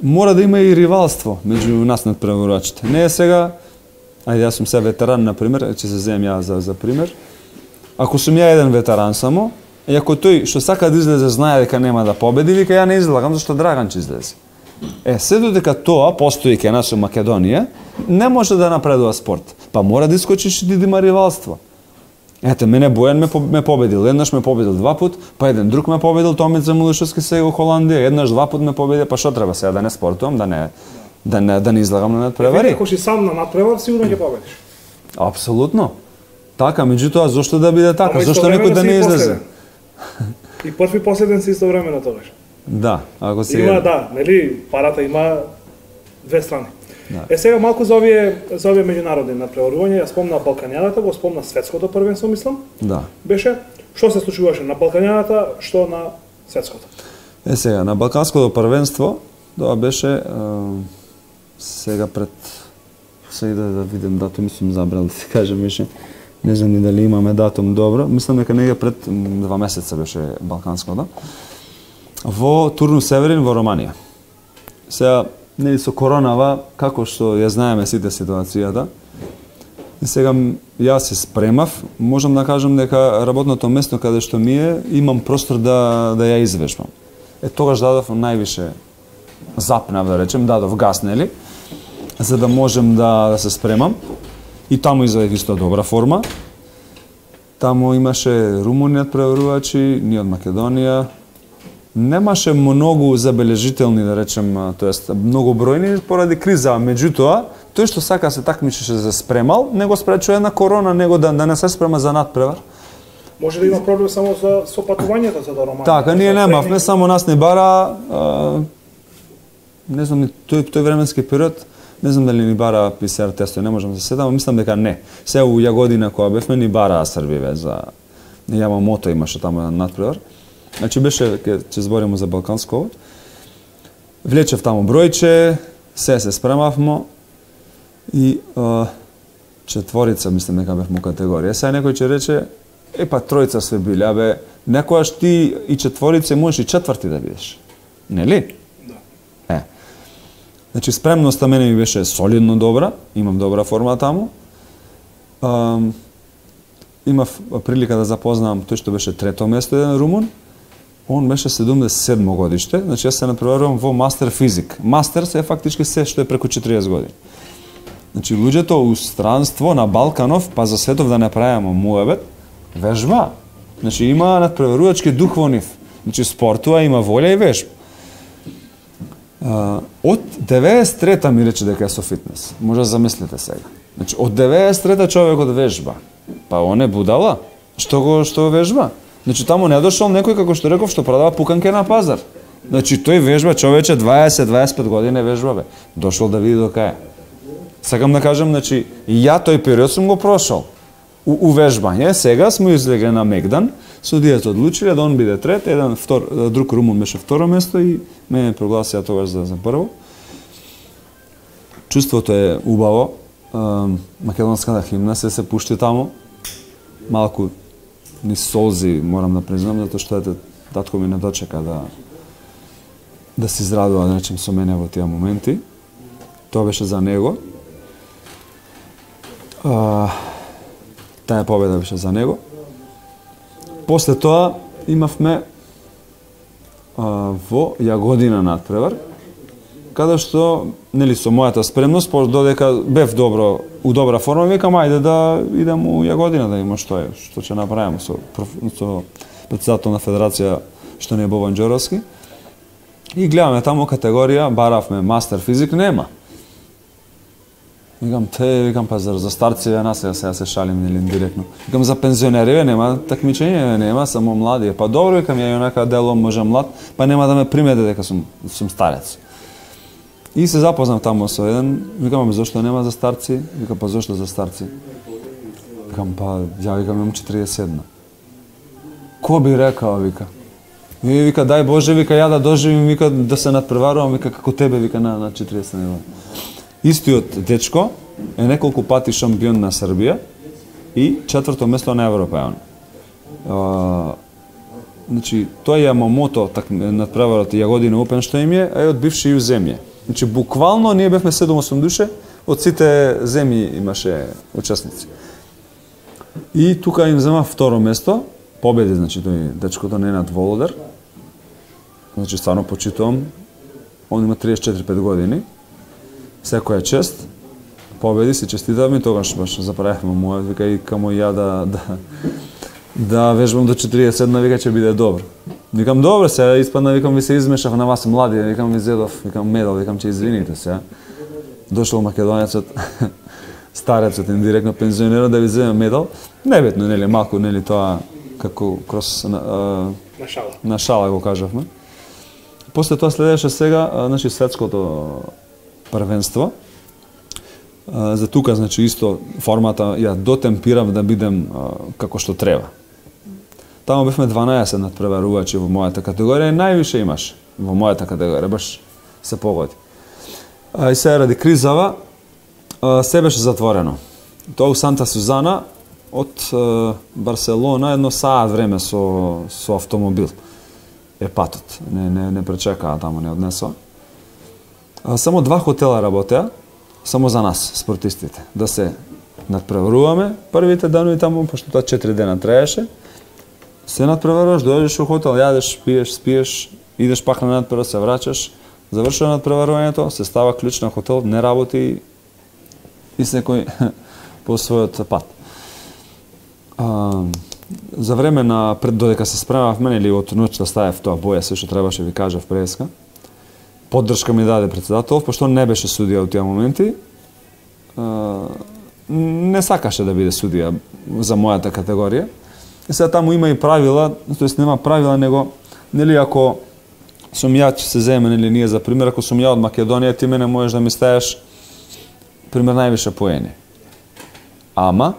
B: Мора да има и ривалство меѓу нас надпреварувачите. Не е сега, ајде јас сум се ветеран на пример, ќе се земам ја за пример. Ако сум ја еден ветеран само, и ако тој што сака да излезе знае дека нема да победи, вика ја не излагам зашто Драган ќе излезе. Се додека тоа постои кај нас во Македонија, не може да напредува спорт. Па мора да искочиш и да има ривалство. Ете, мене Бојан ме победил, еднаш ме победил 2 пат, па еден друг ме победил, Томица Милушевски сега во Холандија, еднаш 2 пат ме победи, па што треба сега да не спортувам, да не излагам на надпревари?
A: Ако си сам на надпревар, сигурно ќе победиш.
B: Апсолутно. Така, меѓутоа зошто да биде така? Зошто некој да не излезе?
A: И прв и последен си истовремено тогаш.
B: Да, ако си
A: има, да, нели, парата има две страни. Да. Сега малку за овие меѓународни надпреварувања, ја спомна Балкањаната, го спомна светското првенство, мислам.
B: Да.
A: Беше што се случуваше на Балкањаната, што на светското.
B: Сега на Балканското првенство, тоа беше сега пред да видам датум, сум забрал да се кажем беше. Не знам ни дали имаме датум добро. Мислам дека нега пред 2 месеца беше Балканското. Во Турну Северин во Романија. Сега нели со коронава, како што ја знаеме сите ситуацијата, и сега јас се спремав, можам да кажам дека работното место каде што ми е, имам простор да ја извежбам. Тогаш дадов највише запнав, да речем, дадов газ, нели, за да можем да се спремам. И таму извадив исто добра форма. Таму имаше румуни надпреварувачи, ние од Македонија. Немаше многу забележителни, да речем, тоест многу бројни поради криза, меѓутоа, тој што сака се такмичеше за спремал, не го спречува една корона, него да не се спрема за надпревар.
A: Може да има проблем само со патувањето за Романија.
B: Така, ние немавме, само нас не бара, не знам, тој временски период, не знам дали ни бара ПСР тесто, не можам да се сетам, мислам дека не. Сега у Јагодина кога бевме ни бара Србиве за Јамамото имаше таму на надпревар. Значи беше, ќе збориме за Балканско. Влечев таму бројче, се спремавмо и четворица, мислам дека бевме категорија. Сега некој ќе рече, па тројца све биле, некојаш ти и четворица можеш и четврти да бидеш. Нели? Да. Значи спремноста мене ми беше солидно добра, имам добра форма таму. Имав прилика да запознавам тој што беше трето место, еден румун. Он беше 77 годиште, значи јас се надпреварувам во мастер физик. Мастер се е фактички се што е преку 40 години. Значи луѓето у странство на Балканов, па за светов да не правиме муебет, вежба. Значи има надпреварувачки дух во нив. Значи спортува, има волја и вежба. Од 93-та ми рече дека е со фитнес. Може да замислите сега. Значи од 93-та човекот вежба. Па он е будала. Што вежба? Значи таму не дошол некој како што реков што продава пуканке на пазар. Значи тој вежба човече 20-25 години вежба бе. Дошол да види до кај. Сакам да кажам, значи ја тој период сум го прошол. У вежбање, сега сме излегле на Мегдан, судијата одлучиле да он биде трет, друг румун беше второ место и мене прогласија тогаш за прво. Чувството е убаво. Македонската химна се пушти таму. Малку ни солзи, морам да признам, затоа што татко ми не дочека да се израдува, да речем, со мене во тие моменти. Тоа беше за него. Таа победа беше за него. После тоа имавме во Јагодина надпревар, каде што нели со мојата спремност, додека бев у добра форма, викам ајде да идем у Јагодина да има што ќе направиме со претседател на федерација што не е Бобан Ѓоровски. И гледаме таму категорија, баравме мастер физик, нема. Викам па за старци нас сега се шалим нели директно. Викам за пензионери нема такмичење, нема само млади. Па добро, викам ја онака делом може млад, па нема да ме примете дека сум старец. И се запознав таму со еден, викам зошто нема за старци? Викам па зошто за старци? Викам па ја имам 41. Ко би рекao, вика. И вика дај Боже, вика ја да доживим, вика да се надпреварувам, вика како тебе, вика на 40 години. Истиот дечко е неколку пати шампион на Србија и 4-то место на Европејан. Значи, тој Ямамото надпреварот Јагодина Опен што им е од бивши ју земје. Значи, буквално ние бевме 7-8 душе, од сите земји имаше учесници. И тука им зема второ место, победи, значи, тој дечкото Ненад Володар. Значи, стварно почитувам, он има 34-5 години. Секоја чест, победи, се честитавме, тогаш баш заправихме мојот, вика и камо ја да вежбам до 47, вика ќе биде добро. Викам добро, сега испадна, викам ви се измешав на вас млади, викам ви зедов, викам медал, викам ќе извините сега. Дошол македонецот, старецот индиректно пензионерот да ви земе медал. Небитно, нели, малку, нели, тоа како кроз на шала го кажавме. После тоа следеше сега, значи, светското првенство. За тука, значи, исто формата ја дотемпирав да бидем како што треба. Таму бевме 12 надпреварувачи во мојата категорија и највише имаш во мојата категорија, баш се погоди. И сега ради кризава се беше затворено. Тоа у Санта Сузана од Барселона едно саат време со автомобил е патот. Не пречекаа таму, не однесоа. Само 2 хотела работеа, само за нас, спортистите, да се надпреваруваме првите данови таму, пошто тоа 4 дена траеше. Се надпреваруваш, дојдеш у хотел, јадеш, пиеш, спиеш, идеш пак на надпревар, се враќаш, завршува надпреварувањето, се става клjuč на хотел, не работи и секој по својот пат. За време на додека се спремавме, или од ноќта ставев тоа боја, се што требаше ви кажав преска. Поддршка ми даде председател, пошто не беше судија у тие моменти. Не сакаше да биде судија за мојата категорија. И сега таму има и правила, тоест нема правила, него, нели, ако сум ја, че се земе, нели, ние за пример, ако сум ја од Македонија, ти мене можеш да ми ставиш, пример, највише поени. Ама,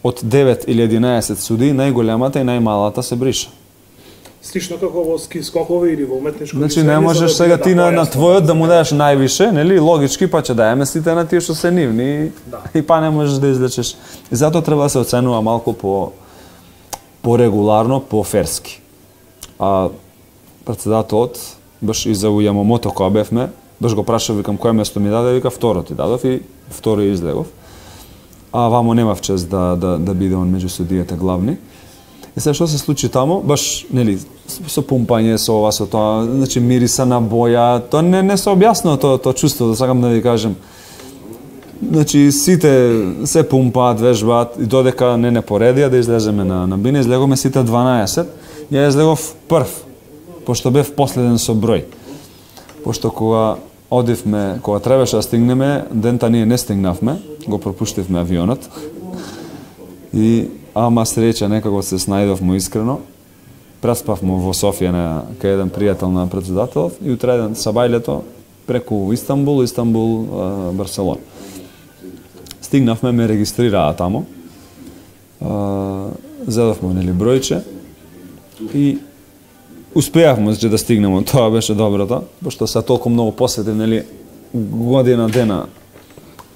B: од 9 или 11 суди, најголемата и најмалата се бриша.
A: Слично како во ски скокови или во уметничко.
B: Значи не можеш сега ти на твојот да му дадеш највише, нели, логички, па ќе даеме сите на тие што се нивни и па не можеш да излечеш. И затоа треба да се оценува малку по-регуларно, по-ферски. А председателот, баш и за Ямамото која бевме, баш го прашав, викам, кој место ми даде, вика, второ ти дадов и второ излегов. А вамо немав чест да биде он меѓу судиите главни. И сега што се случи таму, баш, нели, со пумпање, со ова, со тоа, значи мириса на боја, тоа не се објаснува тоа чувство, да сакам да ви кажем. Значи сите се пумпаат, вежбаат и додека не поредија да излеземе на бина, излеговме сите 12. Ја излегов прв, пошто бев последен со број. Пошто кога одивме, кога требаше да стигнеме, дента ние не стигнавме, го пропуштивме авионот. И ама среќа некако се снајдовме искрено. Преспавме во Софија кај еден пријател на председателов и утреден сабајлето преку Истанбул, Барселона. Стигнавме, ме регистрираа таму. Зедовме, нели, бројче и успеавме да стигнеме. Тоа беше доброто, пошто се толку многу посветив, нели, година дена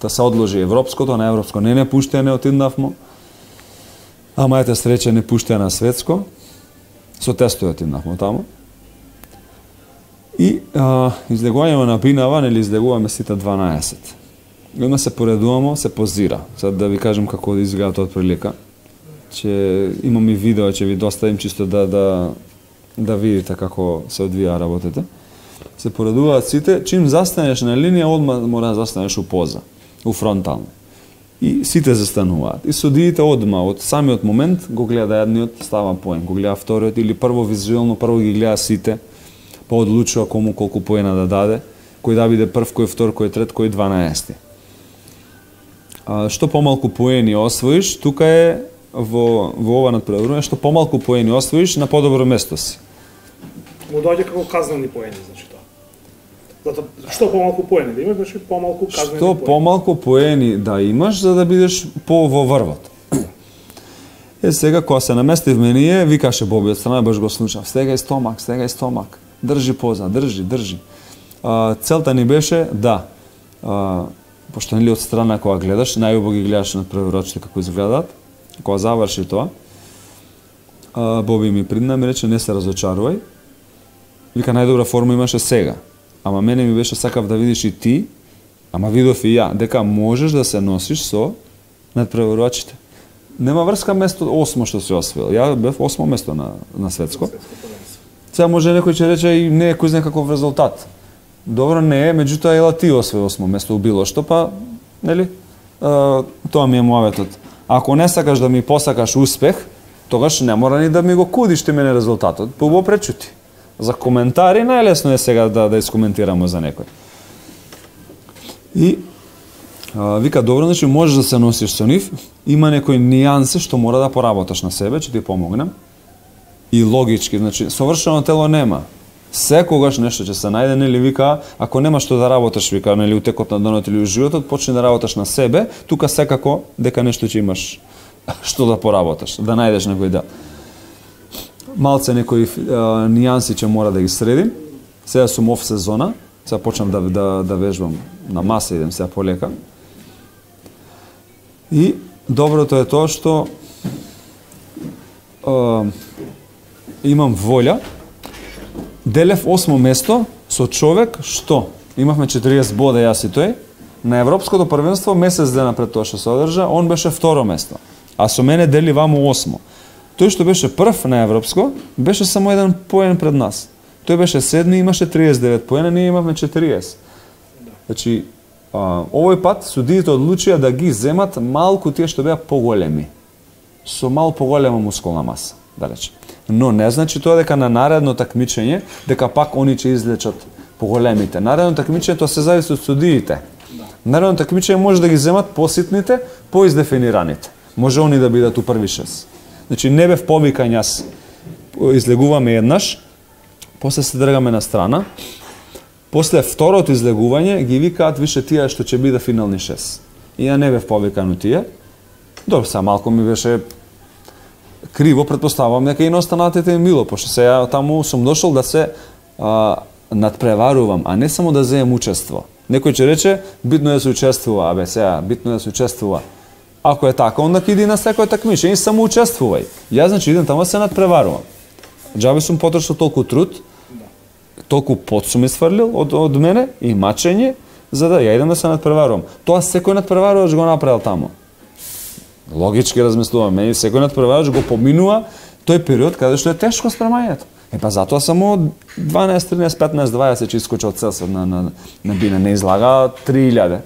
B: да се одложи европското, на европско не пуштење отиднавме. Ама ете среќа не пуштеа на светско. Со тестови отиднавме таму. И излегувањето на бинава, нели, излегуваме сите 12. И одма се поредуваме, се позира. Сега да ви кажем како изгледа тоа од прилика. Че имам и видео, ќе ви доставим чисто да видите како се одвија работите. се поредуваат сите, чим застанеш на линија, одма мора да застанеш у поза, у фронтално. И сите застануваат. И судиите одма, од самиот момент, го гледа едниот, става поен, го гледа вториот, или прво визуелно, прво ги гледа сите, па одлучува кому колку поена да даде, кој да биде прв, кој втор, кој трет, кој 12. Што помалку поени освоиш, тука е во ова надпреварување, што помалку поени освоиш, на подобро место си.
A: Му доаѓа како казнени поени, значи тоа. Затоа што помалку поени да имаш, значи помалку казнени
B: поени. Што помалку поени да имаш за да бидеш во врвот. Сега кога се наместив менije, викаше Боби од страна, баш го слушав. Стегај стомак. Држи поза, држи. Целта ни беше да пошто нели од страна кога гледаш, најубаво ги гледаш на преврочите како изгледаат. Кога заврши тоа, Боби ми придна ми рече не се разочарувај. Вика најдобра форма имаше сега. Ама мене ми беше сакав да видиш и ти, ама видов и ја, дека можеш да се носиш со надпреварувачите. Нема врска место 8 што се освоил. Ја бев 8 место на светско. Сега може некој ќе рече и не е кој знае каков резултат. Добро не е, меѓутоа ела ти освои 8 место у било што, па нели? Тоа ми е муаветот. Ако не сакаш да ми посакаш успех, тогаш не мора ни да ми го кудиш ти мене резултатот, па го пречути. За коментари најлесно е сега да искоментираме за некој. И вика добро, значи можеш да се носиш со нив, има некои нијанси што мора да поработаш на себе, ќе ти помогнем. И логички, значи совршено тело нема. Секогаш нешто ќе се најде, нели вика, ако нема што да работиш, вика, нели утекот на денот или у животот, почни да работиш на себе, тука секако дека нешто ќе имаш што да поработиш, да најдеш некој дел. Малце некои нијанси ќе мора да ги средим. Сега сум оф сезона, сега почнам да вежбам на маса, идем сега полека. И доброто е тоа што имам волја. Делев 8 место со човек што имавме 40 бода јас и тој. На европското првенство месец дена пред тоа што се одржа, он беше второ место. А со мене дели ваму 8. Тој што беше прв на европско, беше само еден поен пред нас. Тој беше седми, имаше 39 поена, ние имавме 40. Значи, овој пат судиите одлучија да ги земат малку тие што беа поголеми. Со мал поголема мускулна маса, да речем. Но не значи тоа дека на наредно такмичење, дека пак они ќе излечат поголемите. Наредно такмичење тоа се зависи од судиите. Наредно такмичење може да ги земат поситните, поиздефинираните. Може они да бидат у први 6. Значи не бев повикањ јас. Излегуваме еднаш, после се дргаме на страна. После второто излегување ги викаат више тие што ќе биде финални 6. И ја не бев повикан у тие. Добро, сега малку ми беше криво, претпоставувам дека и на останатите ми мило, пошто сега таму сум дошол да се надпреварувам, а не само да земам учество. Некој ќе рече, битно е да се учествува, абе сега, битно е да се учествува. Ако е така, онда иди на секој такмичење и само учествувај. Јас значи идем таму да се надпреварувам. Џабе сум потрошил толку труд, толку пот сум исфрлил од мене и мачење, за да ја идем да се надпреварувам. Тоа секој надпреварувач го направил таму. Логички размислувам, мене секој надпреварувач го поминува тој период каде што е тешко спремањето. Па затоа само 12, 13, 15, 20 ќе искочи од целсот на бине, не излага 3000.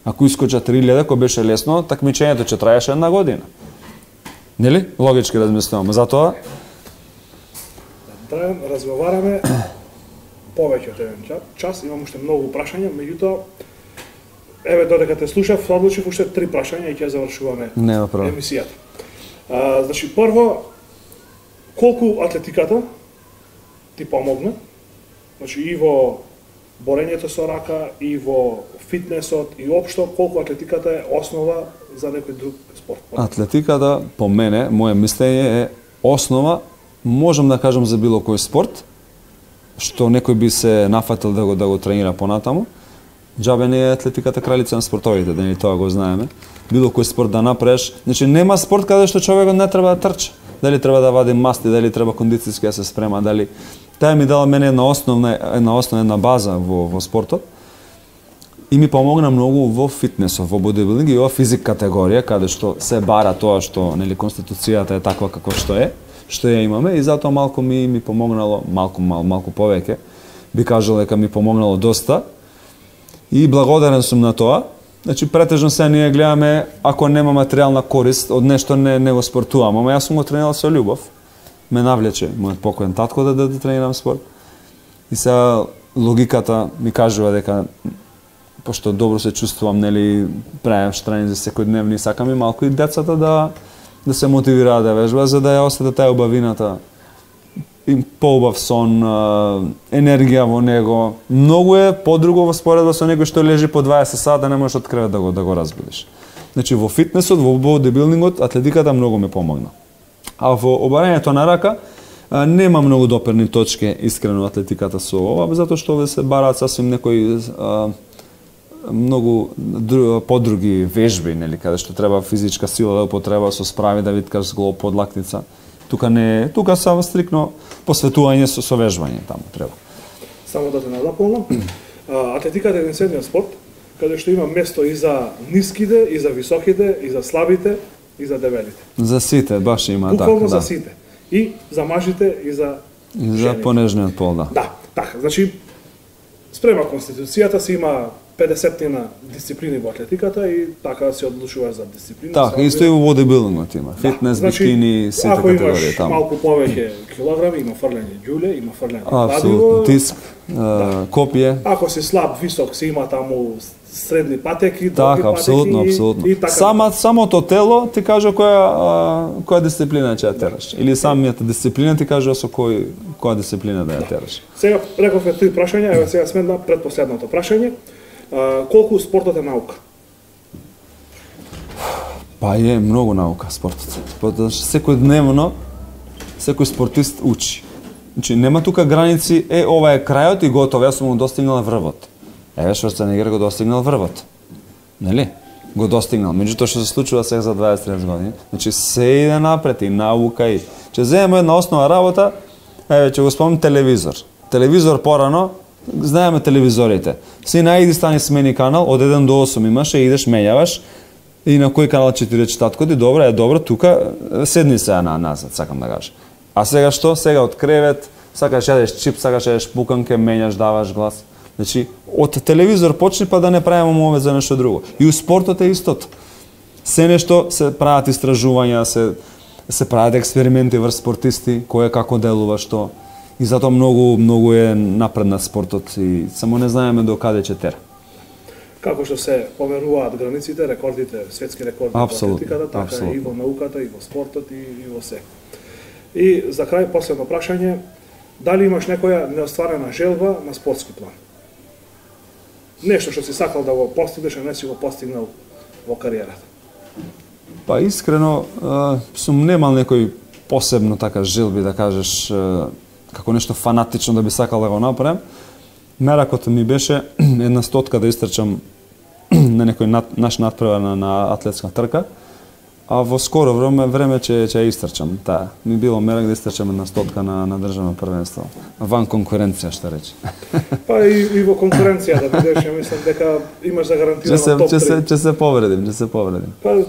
B: Ако искоча 3000, кој беше лесно, такмичењето ќе траеше една година. Нели? Логички размислувам. Затоа
A: разговараме повеќе од еден час, имам уште многу прашања, меѓутоа еве додека те слушав, одлучив уште 3 прашања и ќе завршуваме емисијата. Значи прво, колку атлетиката ти помогна? Значи и во борењето со рака, и во фитнесот, и општо, колку атлетиката е основа за некој друг спорт?
B: Атлетиката, по мене, моје мислење е основа, можам да кажам за било кој спорт, што некој би се нафатил да го тренира понатаму. Џабе не е атлетиката кралица на спортовите, да ни тоа го знаеме. Било кој спорт да направиш, значи нема спорт каде што човекот не треба да трча. Дали треба да вади масти, дали треба кондицијски да се спрема, дали таа ми дала мене една основна база во спортот. И ми помогна многу во фитнесот, во бодибилдинг и во физик категорија, каде што се бара тоа што нели конституцијата е таква како што ја имаме, и затоа малку ми помогнало, малку повеќе, би кажал дека ми помогнало доста и благодарен сум на тоа. Значи претежно се ние гледаме ако нема материјална корист од нешто не го спортувам, ама јас сум го тренирал со љубов. Ме навлече мојот покоен татко да тренирам спорт. И сега логиката ми кажува дека пошто добро се чувствувам, нели, правам тренинзи секојдневни, сакам и малку и децата да се мотивираат да вежбаат за да ја осетат таа убавината. И поубав сон, енергија во него. Многу е подруго во споредба со некој што лежи по 20 сата, не можеш од кревет да го разбудиш. Значи во фитнесот, во бодибилдингот, атлетиката многу ме помогна. А во обарањето на рака нема многу доперни точки искрено атлетиката со ова, затоа што овде се бараат сасвим некои многу подруги вежби, нели, каде што треба физичка сила да употреба со spravi да виткаш с голо подлакница. Тука само стрикно посветување со вежбање таму треба.
A: Само да те надополнам. Атлетиката е единствениот спорт каде што има место и за ниските, и за високите, и за слабите, и за дебелите.
B: За сите баш има така, да.
A: Буквално за сите. И за мажите, и за жените.
B: За понежниот пол, да.
A: Да, така. Значи, спрема Конституцијата си има 50 дисциплини во атлетиката и така се одлучува за дисциплина.
B: Така, исто и во бодибилдингот има. Фитнес,
A: значи,
B: бикини, сите категории таму.
A: Ако имаш малку повеќе килограми, има фрлење ѓуле, има фрлење
B: апсолутно, тиск, копие.
A: Ако си слаб, висок, се има таму средни патеки,
B: така, апсолутно, апсолутно. Самото тело ти кажа која дисциплина ќе ја тераш. Или самијата дисциплина ти кажа со која дисциплина да ја тераш.
A: Сега рековме 3 прашања, еве сега сме на предпоследното прашање. Колку спортот е наука?
B: Па е многу наука спортот. Секојдневно секој спортист учи. Значи нема тука граници, ова е крајот и готово, јас сум го достигнал врвот. Еве Шварценегер го достигнал врвот. Нели? Го достигнал. Меѓутоа што се случува сега за 20-30 години, значи се иде напред и наука и ќе земеме една основна работа, еве ќе го спомнам телевизор. Телевизор порано, знаеме телевизорите. Си најди стани смени канал, од 1 до 8 имаше, идеш, менјаваш, и на кој канал ќе ти рече татко ти, добро, тука, седни сега назад, сакам да кажам. А сега што? Сега од кревет, сакаш јадеш чип, сакаш јадеш пуканке, менјаш, даваш глас. Значи, од телевизор почни па да не правиме мове за нешто друго. И у спортот е истото. Се нешто се прават истражувања, се прават експерименти врз спортисти, кој како делува што. И затоа многу е напреднат спортот и само не знаеме до каде ќе тера.
A: Како што се померуваат границите, рекордите, светски рекорди во атлетиката, така и во науката, и во спортот, и во се. И за крај последно прашање, дали имаш некоја неостварена желба на спортски план? Нешто што си сакал да го постигнеш, а не си го постигнал во кариерата?
B: Па искрено сум немал некој посебно така желби да кажеш како нешто фанатично да би сакал да го направам. Меракот ми беше една стотка да истрчам на некој наш надпревар на атлетска трка, а во скоро време ќе ја истрчам. Таа ми било мерак да истрчам една стотка на државно првенство. Ван конкуренција, што рече.
A: Па и во конкуренција да бидеш, ја мислам дека имаш загарантирано топ 3.
B: Ќе се повредим.
A: Па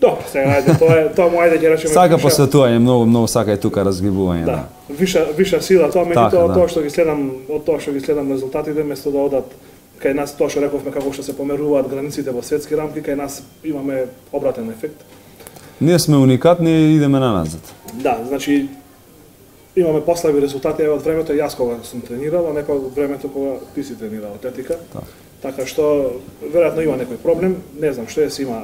A: добро, сега ајде, тоа му ајде ќе речеме.
B: Сака посветување, многу сака и тука разгибување, да.
A: Виша сила, тоа меѓутоа од тоа што ги следам резултатите, место да одат кај нас, тоа што рековме како што се померуваат границите во светски рамки, кај нас имаме обратен ефект.
B: Ние сме уникатни и идеме наназад.
A: Да, значи имаме послаби резултати од времето јас кога сум тренирал, а не од времето кога ти си тренирал атлетика. Така што веројатно има некој проблем, не знам што си има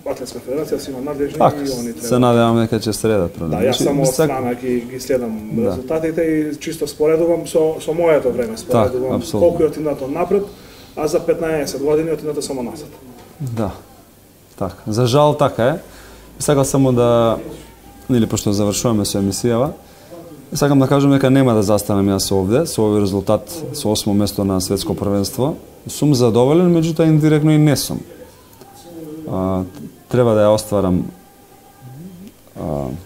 A: Атлетска федерација, си има надлежни и они треба.
B: Се надевам дека ќе средат проблем.
A: Да, јас само од страна ги следам резултатите и чисто споредувам со моето време, споредувам колку е отиднато напред, а за 15 години отиднато само назад.
B: Да. Така. За жал така е. Сакам само да, или пошто завршуваме со емисијава, сакам да кажам дека нема да застанам јас овде со овој резултат, со 8 место на светско првенство. Сум задоволен, меѓутоа индиректно и не сум. Треба да ја остварам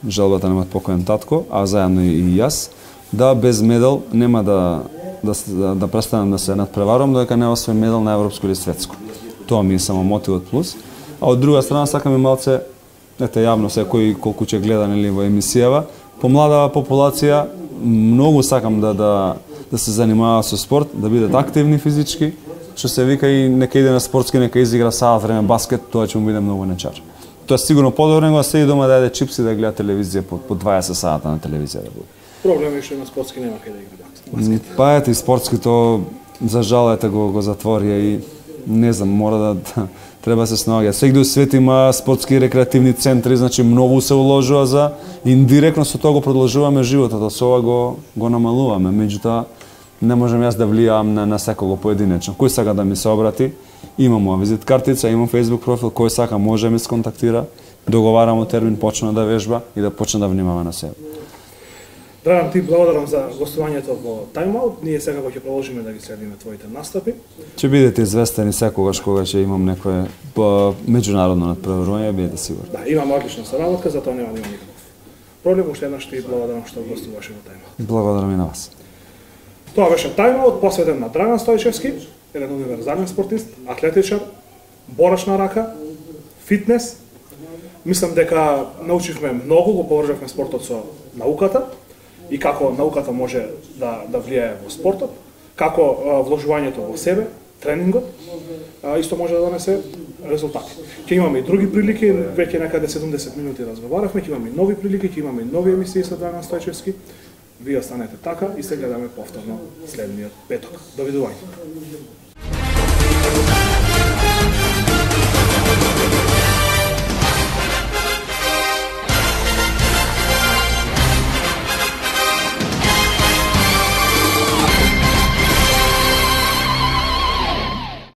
B: желбата на мојот покоен татко, а заедно и јас, да без медал нема да престанам да се надпреварувам додека не освоим медал на европско или светско. Тоа ми е само мотивот плюс. А од друга страна сакам и малце, ете јавно секој колку ќе гледа нели во емисијава, помладава популација, многу сакам да да се занимаваат со спорт, да бидат активни физички, што се вика и нека иде на спортски, нека изигра саат време баскет, тоа ќе му биде многу нечар. Тоа е сигурно подобро него да седи дома да јаде чипси да гледа телевизија по 20 сата на телевизија да биде.
A: Проблем е што на спортски нема кај да игра баскет.
B: Па ете и спортското за жал ете го затворија и не знам, мора да треба да се снаоѓа. Сегде у свет има спортски и рекреативни центри, значи многу се уложува за индиректно со тоа го продолжуваме животот, а со ова го намалуваме. Меѓутоа не можам јас да влијам на секого поединечно. Кој сака да ми се обрати, имам моја визит картица, имам Facebook профил, кој сака може да ми сконтактира, договарамо термин, почне да вежба и да почне да внимава на себе.
A: Драган, ти благодарам за гостувањето во Тайм-аут. Ние секако ќе продолжиме да ги следиме твоите настапи.
B: Ќе бидете известени секогаш кога ќе имам некое меѓународно натпреварување, бидете сигурни.
A: Да, имаме одлична соработка, затоа нема да има никаков проблем. Уште еднаш ти благодарам што гостуваше во Тайм-аут.
B: Благодарам и на вас.
A: Тоа беше Тайм-аут посветен на Драган Стојчевски, еден универзален спортист, атлетичар, борач на рака, фитнес. Мислам дека научивме многу, го поврзавме спортот со науката и како науката може да влијае во спортот, како вложувањето во себе, тренингот, исто може да донесе резултати. Ќе имаме и други прилики, веќе некаде 70 минути разговаравме, ќе имаме и нови прилики, ќе имаме и нови емисии со Драган Стојчевски. Вие останете така и се гледаме повторно следниот петок. Довидување.